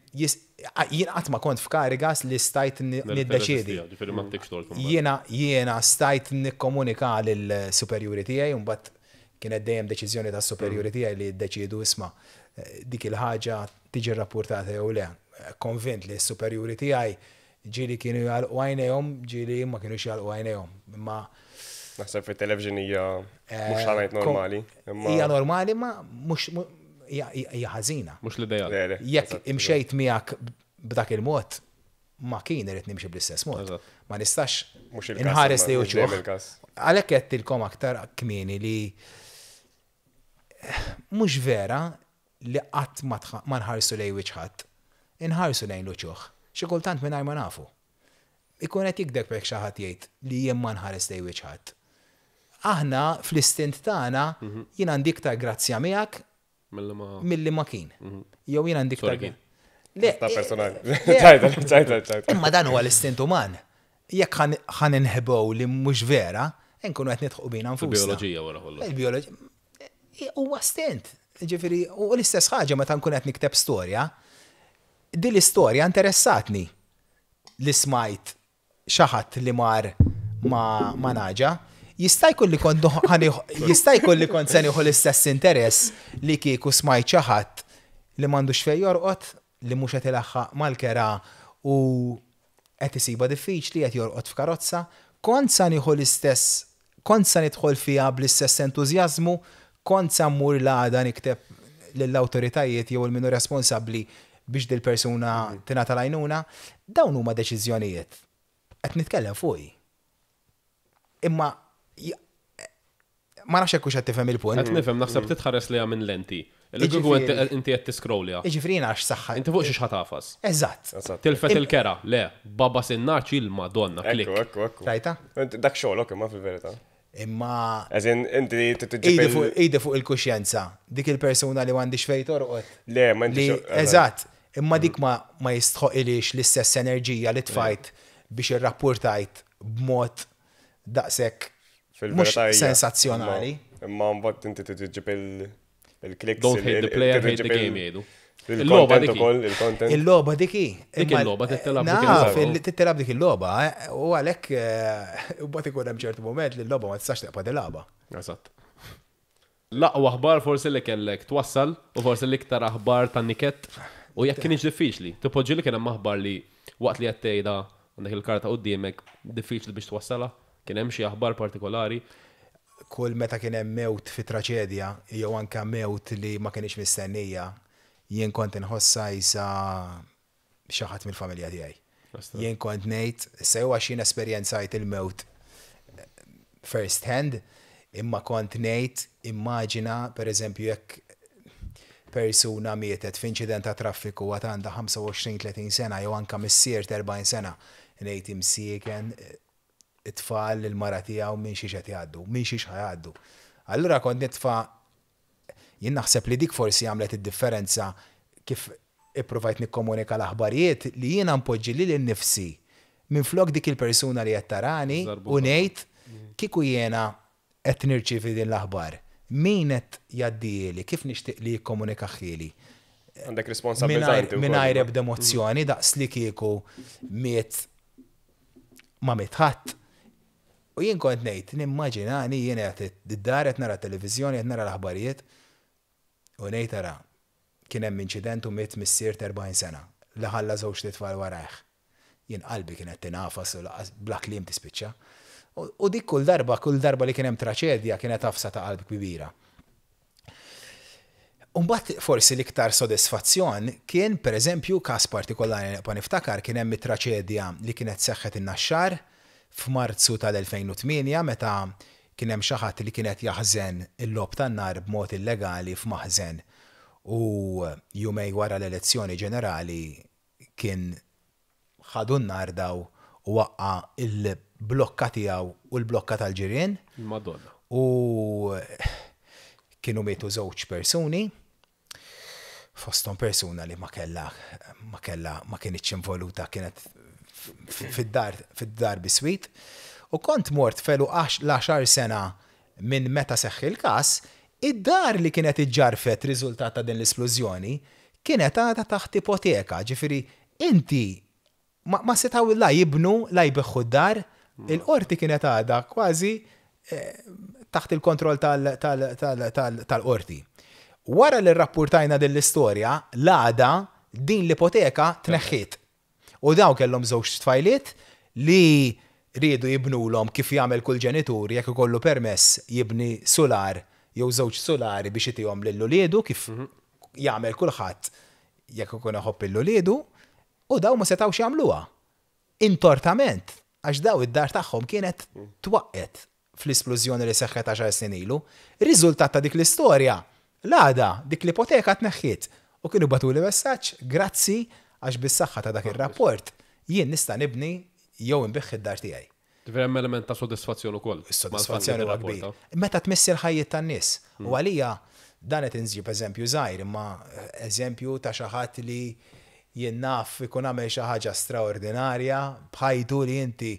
jien qatt ma kont f'kariga li stajt niddeċiedi. Ġifieri ma ttikx tort imbagħad. Jiena jiena stajt nikkomunika lill-superjuri tiegħi u mbagħad kienet dejjem deċiżjoni tas-superjuri tiegħi li jiddeċiedu isma' dik il-ħaġa tiġi rrappurtata jew le. Konvint li s-superjuri tiegħi Ġieli kienu jagħlqu għajnejhom, ġieli ma kinux jagħlqu għajnejhom. Imma Naħseb fit-television hija mhux ħa ngħid normali, imma Hija normali ma mhux hija ħażina. Mhux l-ideal. Le, le, Jekk eżatt, imxejt miegħek b'dak il-mod, ma kien irid nimxi bl-istess mod. Eżatt. Ma nistax Mhux il-każ, inħares imma li mhux dejjem uċuħ. il-każ. Għalhekk għedtilkom aktar kmieni li mhux vera li qatt ma nħarsu lejn wiċċ ħadd. Inħarsu lejn l-uċuħ. Xi kultant mingħajr ma nafu. Ikun qed jigdeb jekk xi ħadd jgħid li jien ma nħares lejn wiċċ ħadd. Aħna fl-istint tagħna jien għandi iktar grazzja miegħek milli ma kien. Jew jien għandi iktar. Le. Ta' personali. Ċajta, ċajta, ċajta. Imma dan huwa l-istint uman. Jekk ħan inħbew li mhux vera, nkunu qed nidħqu bina nfusna. Il-bioloġija wara kollox. Il-bioloġija. Huwa stint. Ġifieri, u l-istess ħaġa meta nkun qed nikteb storja, din l-istorja interessatni li smajt xi ħadd li mar ma' ma' nagħġa, jista' jkun li kont jista' jkun li kont se nieħu l-istess interess li kieku smajt xi ħadd li m'għandux fejn jorqod, li mhux qed ilaħħaq mal-kera u qed isibha diffiċli, qed jorqod f'karozza. Kont sa nieħu l-istess, kont sa nidħol fiha bl-istess entużjażmu, kont sa mmur l-għada nikteb lill-awtoritajiet jew 'il min hu responsabbli biex dil-persuna tingħata l-għajnuna. Dawn huma deċiżjonijiet. Qed nitkellem fuqi. Imma ma nafx jekk hux qed tifhem il-punt. Qed nifhem, naħseb titħares lejha minn lenti. Li kieku inti qed tiscrollja. Jiġifieri jiena għax saħħa. Inti fuq xiex ħa tagħfas? Eżatt. Tilfet il-kera, le, baba sinnaċ il-Madonna, klikk. Ekku, ekku, ekku. Rajta? Dak xogħlok imma fil-verità. Imma. As in, inti tiġib. Idi fuq il-kuxjenza. Dik il-persuna li m'għandix fejn torqod. Le, ma inti. Eżatt. Imma dik ma jistħoqilhiex l-istess enerġija li tfajt biex irrappurtajt b'mod daqshekk mhux sensazzjonali. Imma mbagħad inti tiġib il-clicks. Don't hate the player, hate the game jgħidu. Il-logħba dik ukoll, il-content. Il-logħba dik hi. Dik il-logħba tittilab dik il-logħba. Tittilab dik il-logħba, eh, u għalhekk eh, mbagħad ikun hemm ċertu moment li l-logħba ma tistax tibqa' tilgħabha. Eżatt. L-aqwa aħbar forsi li kellek twassal u forsi l-iktar aħbar ta' niket u jekk kienx diffiċli. Tipoġġi li kien hemm aħbar li waqt li qed tgħidha għandek il-karta quddiemek diffiċli biex twassalha? Kien hemm xi aħbar partikolari? Kull meta kien hemm mewt fi traċedja jew anke mewt li ma kinitx mistennija, jien kont inħossha qisha xi ħadd mill-familja tiegħi. Jien kont ngħid, issa jew għax jien esperjenzajt il-mewt first hand, imma kont ngħid immaġina pereżempju jekk persuna mietet f'inċident ta' traffiku għad għandha 25-30 sena jew anke missier ta' 40 sena, ngħid imsieken it-tfal, il-mara tiegħu minn xiex qed jgħaddu, minn xiex ħa jgħaddu. Allura kont nitfa' Jien naħseb li dik forsi għamlet id-differenza kif ippruvajt nikkomunika l-aħbarijiet li jiena npoġġi lili nnifsi minflok dik il-persuna li qed tarani u ngħid kieku jiena qed nirċievi din l-aħbar, min qed jgħaddihieli, kif nixtieq li jikkomunikahieli. Għandek responsabbiltà inti wkoll. Mingħajr ebda emozzjoni daqs li kieku miet ma miet ħadd. U jien kont ngħid, nimmaġinani jien qiegħed id-dar qed nara t-televiżjoni, qed nara l-aħbarijiet u ngħid ara, kien hemm inċident u miet missier t'40 sena li ħalla żewġt itfal warajh. Jien qalbi kienet tingħafas u lanqas bla kliem tispiċċa. U dik kull darba, kull darba li kien hemm traċedja kienet għafsa ta' qalb kbira. U mbagħad forsi l-iktar sodisfazzjon kien, per eżempju, każ partikolari li nibqa' niftakar, kien hemm it-traċedja li kienet seħħet in-Naxxar f'Marzu tal-2008 meta kien hemm xi ħadd li kien qed jaħżen il-logħob tan-nar b'mod illegali f'maħżen u jumejn wara l-elezzjoni ġenerali kien ħadu n-nar daw u waqqa' l-blokka tiegħu u l-blokka tal-ġirien. Madonna. U kienu mietu żewġ persuni, fosthom persuna li ma kellha ma kellha ma kinitx involuta kienet fid-dar fid-dar biswit. U kont mort f'għeluq l-għaxar sena minn meta seħħ il-każ, id-dar li kienet iġġarrfet riżultat ta' din l-isplużjoni kienet għadha taħt ipoteka, ġifieri inti ma ma setgħu la jibnu la jbigħu d-dar, il-qorti kienet għadha kważi taħt il-kontroll tal-qorti. Wara li rrappurtajna din l-istorja, l-għada din l-ipoteka tneħħiet. U dawn kellhom żewġ tfajliet li riedu jibnulhom kif jagħmel kull ġenitur jekk ikollu permess jibni sular jew żewġ sulari biex itihom lil uliedu kif jagħmel kulħadd jekk ikun iħobb lil uliedu u dawn ma setgħux jagħmluha. Intortament għax dawn id-dar tagħhom kienet twaqqgħet. fl-isplużjoni li seħħet għaxar snin ilu. Riżultat ta' dik l-istorja, l-għada dik l-ipoteka tneħħiet u kienu bagħtuli messaġġ, grazzi għax bis-saħħa ta' dak ir-rapport jien nista' nibni jew inbigħ id-dar tiegħi. Ġifieri hemm element ta' sodisfazzjon ukoll. Is-sodisfazzjon huwa kbir. Meta tmiss il-ħajjiet tan-nies. U għalija dan qed inġib eżempju żgħir imma eżempju ta' xi ħadd li jien naf ikun għamel xi ħaġa straordinarja b'ħajtu li inti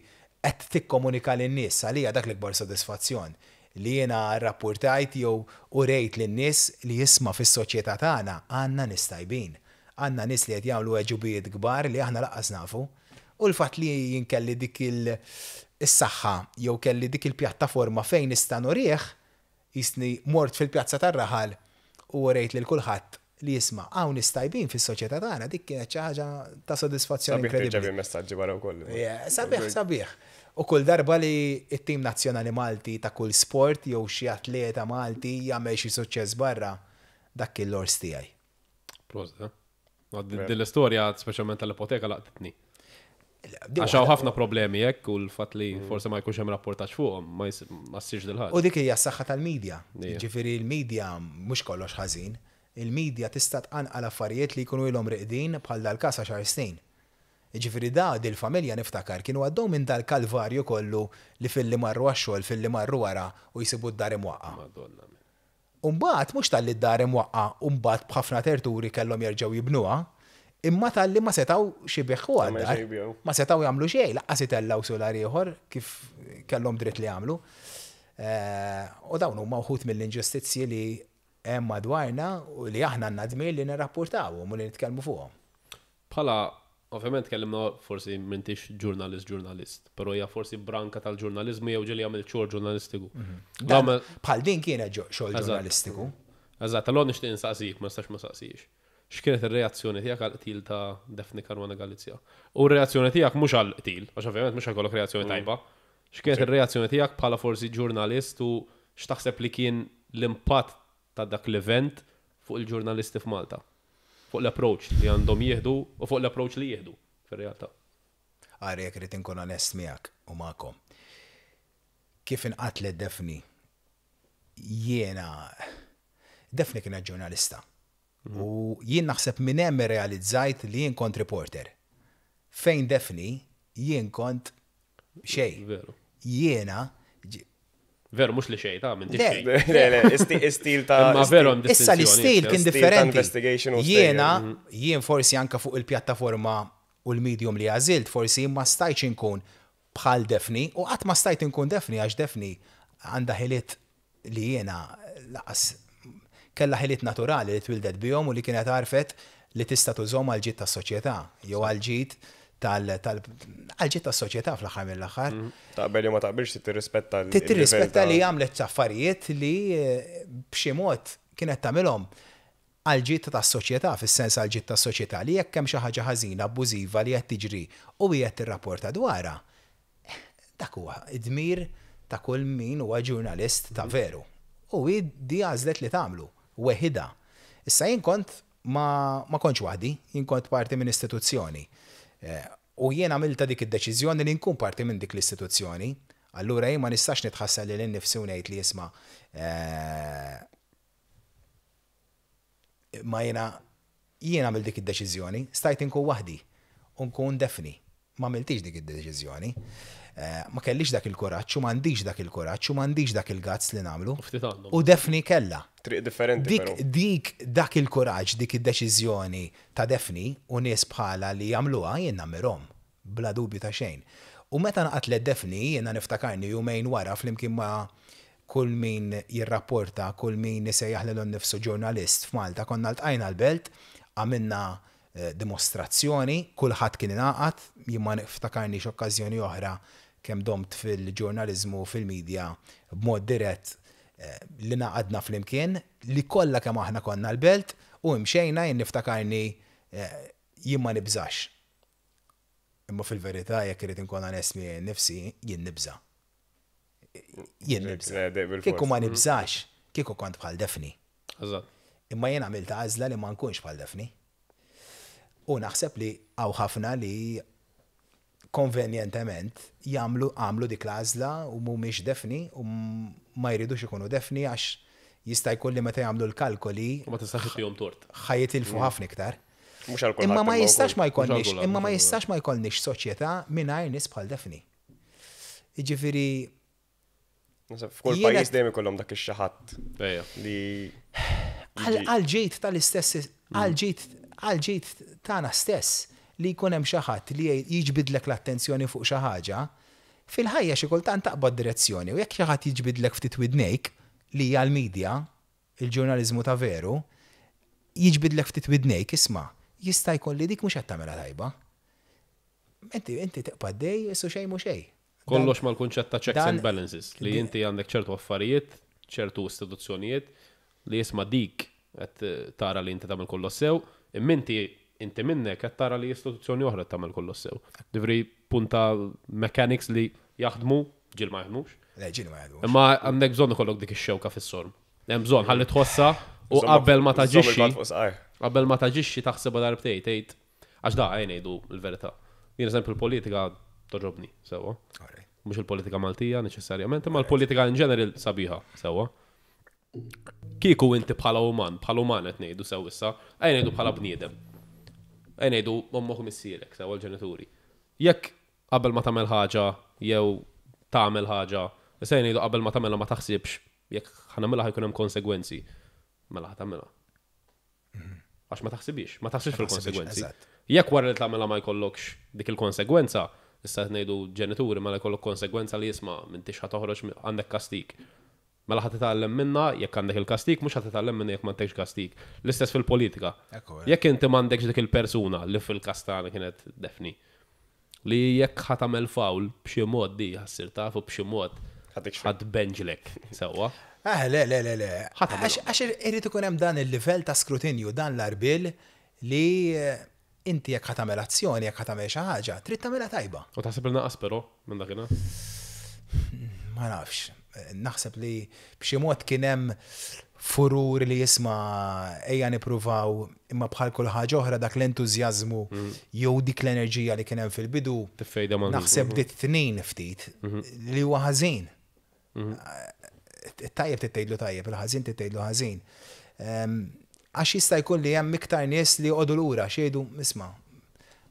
qed tikkomunika lin-nies. Għalija dak l-ikbar sodisfazzjon. Li jiena rrappurtajt jew urejt lin-nies li isma' fis-soċjetà tagħna għandna nies tajbin. Għandna nies li qed jagħmlu għeġubijiet kbar li aħna lanqas nafu. U l-fatt li jien kelli dik is-saħħa jew kelli dik il-pjattaforma fejn nista' nurih, qisni mort fil-pjazza tar-raħal u urejt lil kulħadd li isma' hawn nies tajbin fis-soċjetà tagħna, dik kienet xi ħaġa ta' sodisfazzjon inkredibbli. Sabiħ tirċevi messaġġi wara wkoll. Sabiħ, sabiħ. U kull darba li t-tim nazzjonali Malti ta' kull sport jew xi atleta Malti jagħmel xi suċċess barra, dak kien l-għors tiegħi. Prosit, eh? Din l-istorja, speċjalment tal-ipoteka, laqtitni. Għax hawn ħafna problemi hekk u l-fatt li mm. forsi ma jkunx hemm rapportaġġ fuqhom ma ssirx dil-ħaġa. U dik hija s-saħħa tal-medja. Ġifieri l-medja mhux kollox ħażin. Il-medja tista' tqanqal affarijiet li jkunu ilhom riqdin bħal dal-każ għaxar snin. Ġifieri da dil-familja niftakar kienu għaddew minn dal-kalvarju kollu li filli marru għax-xogħol filli marru wara u jsibu d-dar imwaqqa'. Madonna. U mbagħad mhux talli d-dar imwaqqa' u mbagħad b'ħafna terturi kellhom jerġgħu jibnuha, imma talli ma setgħux ibiħħuha d-dar. Ma setgħu jagħmlu xejn, lanqas itellgħu sular ieħor kif kellhom dritt li jagħmlu. U dawn huma wħud mill-inġustizzji li hemm madwarna u li aħna għandna dmir li nirrappurtawhom u li nitkellmu fuqhom. Bħala, ovvjament tkellimna forsi m'intix ġurnalist ġurnalist, però hija forsi branka tal-ġurnaliżmu jew ġieli għamilt xogħol ġurnalistiku. Mhm. Bħal din kienet xogħol ġurnalistiku. Eżatt, allura nixtieq insaqsik, ma nistax ma saqsix. X'kienet ir-reazzjoni tiegħek għal qtil ta' Daphne Caruana Galizia? U r-reazzjoni tiegħek mhux għal qtil, għax ovvjament mhux ħajkollok reazzjoni mm. tajba. X'kienet ir-reazzjoni tiegħek bħala forsi ġurnalist u x'taħseb li kien l-impatt ta' dak l-event fuq il-ġurnalisti f'Malta? Fuq l-approach li għandhom jieħdu u fuq l-approach li jieħdu fir-realtà. Ara jekk irrid inkun onest miegħek u magħkom. Kif inqatlet Daphne jiena Daphne kienet ġurnalista. U jien naħseb minn hemm irrealizzajt li jien kont reporter. Fejn Daphne jien kont xejn. Veru. Jiena Veru, mhux li xejn, ta' minn xejn. Le, le, istil ta' Ma veru hemm Issa l-istil kien differenti. Jiena, mhm. jien forsi anka fuq il-pjattaforma u l-medium li għażilt, forsi ma stajtx inkun bħal Daphne u qatt ma stajt inkun Daphne għax Daphne għandha ħiliet li jiena laqas kellha ħiliet naturali li twildet bihom u li kienet għarfet li tista' tużhom għall-ġid tas-soċjetà jew għall-ġid tal għall-ġid tas-soċjetà fl-aħħar mill-aħħar. Taqbel jew ma taqbilx trid tirrispetta l Trid tirrispetta li għamlet affarijiet li b'xi mod kienet tagħmilhom għall-ġid tas-soċjetà, fis-sens għall-ġid tas-soċjetà li jekk hemm xi ħaġa ħażina, abbużiva li qed tiġri u hi qed tirrapporta dwarha, Dak huwa d-dmir ta' kull min huwa ġurnalist ta' veru. U hi di għażlet li tagħmlu, weħidha. Issa jien kont ma ma kontx waħdi, jien kont parti minn istituzzjoni. U jien għamiltha dik id-deċiżjoni li nkun parti minn dik l-istituzzjoni. Allura jien ma nistax nitħassar lili nnifsi u ngħid li isma' Imma jiena jien għamilt dik id-deċiżjoni, stajt inkun waħdi u nkun Daphne. Ma għamiltix dik id-deċiżjoni. Ma kellix dak il-kuraġġ u m'għandix dak il-kuraġġ u m'għandix dak il-guts li nagħmlu. Ftit għandhom. U Daphne kellha. Triq differenti Dik però. dik dak il-kuraġġ, dik id-deċiżjoni ta' Daphne u nies bħalha li jagħmluha jien nammirhom. Bla dubju ta' xejn. U meta nqatlet Daphne, jiena niftakarni jumejn wara flimkien ma' kull min jirrapporta, kull min isejjaħ lilu nnifsu ġurnalist f'Malta, konna ltqajna l-Belt, għamilna dimostrazzjoni, kulħadd kien ingħaqad, jien ma niftakarnix okkażjoni oħra kemm domt fil-ġurnaliżmu u fil-media b'mod dirett li ngħaqadna flimkien, li kollha kemm aħna konna l-Belt u imxejna, jien niftakarni jien ma nibżax. Imma fil-verità jekk irrid inkun onest miegħi nnifsi, jien nibża'. Jien nibża'. Kieku ma nibżax, kieku kont bħal Daphne. Imma jien għamilt għażla li ma nkunx bħal Daphne. U naħseb li hawn ħafna li konvenjentement jagħmlu għamlu dik l-għażla u mhumiex Daphne u ma jridux ikunu Daphne għax jista' jkun li meta jagħmlu l-kalkoli Ma tistax ittihom tort. ħa jitilfu ħafna iktar. Mhux għal kulħadd Imma ma imma jistax wkoll. ma jkollniex, Mhux għal imma ma kulħadd, jistax ma jkollniex soċjetà mingħajr nies bħal Daphne. Jiġifieri Naħseb F'kull Jiena- pajjiż dejjem ikollhom dak ix-xi ħadd Ejja. li għal ġid tal-istess, għal ġid tagħna stess li jkun hemm xi ħadd li jiġbidlek l-attenzjoni fuq xi ħaġa, fil-ħajja xi kultant taqbad direzzjoni u jekk xi ħadd jiġbidlek ftit widnejk li hija l-medja, il-ġurnaliżmu ta' veru, jiġbidlek ftit widnejk, isma' jista' jkun li dik mhux qed tagħmilha tajba. Inti tibqa' dej, issu xejn mhu xejn. Kollox mal-kunċett ta' checks and balances li inti għandek ċertu affarijiet, ċertu istituzzjonijiet li jisma' dik qed tara li inti tagħmel kollox sew, imma inti minnek qed tara li istituzzjoni oħra tagħmel kollox sew. Ġifieri punta mechanics li jaħdmu, ġieli ma jaħdmux. Le, ġieli ma jaħdmux. Imma għandek bżonn ikollok dik ix-xewka fis-sorm. Hemm bżonn ħalli tħossa u qabel ma taġixxi, qabel ma taġixxi taħsibha darbtejn tgħid għax da għajn ngħidu l-verità. Jien eżempju l-politika togħġobni, sewwa. Mhux il-politika Maltija neċessarjament, imma l-politika in general sabiħa, sewwa. Kieku inti bħala uman qed ngħidu sew issa, ejja ngħidu bħala bniedem. Ejja ngħidu ommok u missierek, sewwa l-ġenituri. Jekk qabel ma tagħmel ħaġa jew tagħmel ħaġa, issa ngħidu qabel ma tagħmelha ma taħsibx jekk ħa nagħmilha ħa jkun hemm konsegwenzi. Mela ħa tagħmilha. Għax ma taħsibix, ma taħsibx fil-konsegwenzi. Jekk wara li tagħmilha ma jkollokx dik il-konsegwenza, issa qed ngħidu ġenituri mela jkollok konsegwenza li jisma' m'intix ħa toħroġ għandek kastik. Mela ħa titgħallem minna jekk għandek il-kastik, mhux ħa titgħallem minna jekk m'għandekx kastik. L-istess fil-politika. Jekk inti m'għandekx dik il-persuna li fil-każ tagħna kienet Daphne, li jekk ħa tagħmel foul b'xi mod di ħa ssir taf u b'xi mod ħa tbenġlek sewwa. Ah, le, le, le, le. Għax irid ikun hemm dan il-livell ta' skrutinju, dan l-għarbiel li inti jekk ħa tagħmel azzjoni, jekk ħa tagħmel xi ħaġa, trid tagħmilha tajba. U taħseb li naqas però minn dakinhar? Ma nafx. Naħseb li b'xi mod kien hemm furur li jisma' ejja nippruvaw imma bħal kull ħaġa oħra dak l-entużjażmu jew dik l-enerġija li kien hemm fil-bidu. Tiffejda ma' Naħseb dit tnin ftit li huwa ħażin. Tajjeb tgħidlu tajjeb, il-ħażin tgħidlu ħażin. Għax jista' jkun li hemm iktar nies li joqogħdu lura xejdu isma'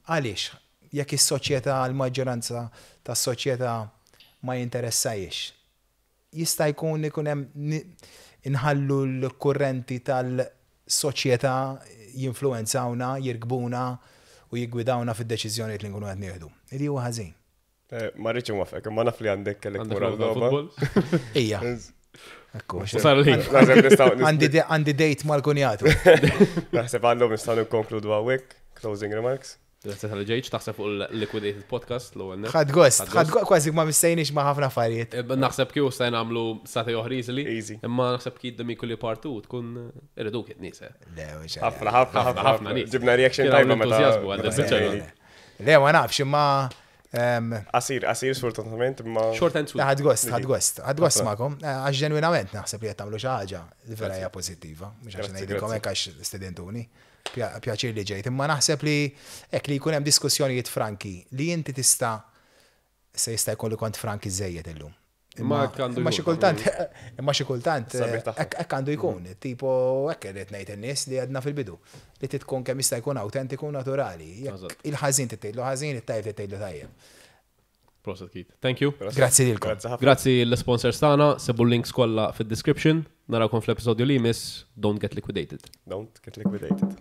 għaliex jekk is-soċjetà l-maġġoranza tas-soċjetà ma jinteressajiex. Jista' jkun ikun hemm inħallu l-kurrenti tal-soċjetà jinfluwenzawna, jirkbuna u jiggwidawna fid-deċiżjonijiet li nkunu qed nieħdu. Li huwa ħażin. Ma rridx inwaqqfek, imma naf li għandek kellek Għandek mura logħba logħba. futbol? Ija. Ekku. U sar il-ħin. Naħseb nistgħu Għandi date mal-kunjatu. Naħseb għallum nistgħu nikkonkludu hawnhekk. Closing remarks. Grazzi talli ġejt, taħseb fuq il-Liquidated Podcast l-ewwel nett. Ħadt gost, ħadt gost, kważi ma missejniex ma ħafna affarijiet. Naħseb kieku stajna nagħmlu sagħtejn oħra easily. Easy. Imma naħseb kien Demicoli part 2 tkun irridu kien nies. Le, mhux Ħafna, ħafna, Ħafna, ħafna nies. Ġibna reaction Kien hawn tajba meta. entużjażmu għal meta biċċa semmejni. Le, ma nafx, imma Qasir, qasir sfortunatament, imma. Short and sweet. ħadt gost, ħadt gost, ħadt gost magħkom. Għax ġenwinament naħseb li qed tagħmlu xi ħaġa li vera hija pożittiva. Mhux għax Grazzi, ngħidilkom grazzi. hekk għax stedintuni. Pjaċir li ġejt, imma naħseb li hekk li jkun hemm diskussjonijiet franki li inti tista' se jista' jkollu kont franki żejjed illum. Imma hekk għandu Imma xi jkun. kultant, imma xi kultant, Sabiħ tagħha. hekk għandu jkun. Tipo, hekk irrid ngħid in-nies li għedna fil-bidu. Li tkun kemm jista' jkun autentiku naturali. Jekk Eżatt. Il-ħażin tgħidlu ħażin, it-tajjeb tgħidlu tajjeb. Prosit Keith. Thank you. Grazzi lilkom. Grazzi ħafna. Grazzi l-sponsors tagħna, sibu l-links kollha fid-description. Narawkom fl-episodju li jmiss. Don't get liquidated. Don't get liquidated.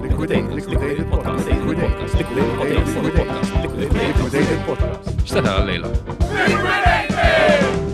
Liquidated. Liquidated podcast. Liquidated. Liquidated. Liquidated. Liquidated podcast. X'se tara llejla? Liquidated!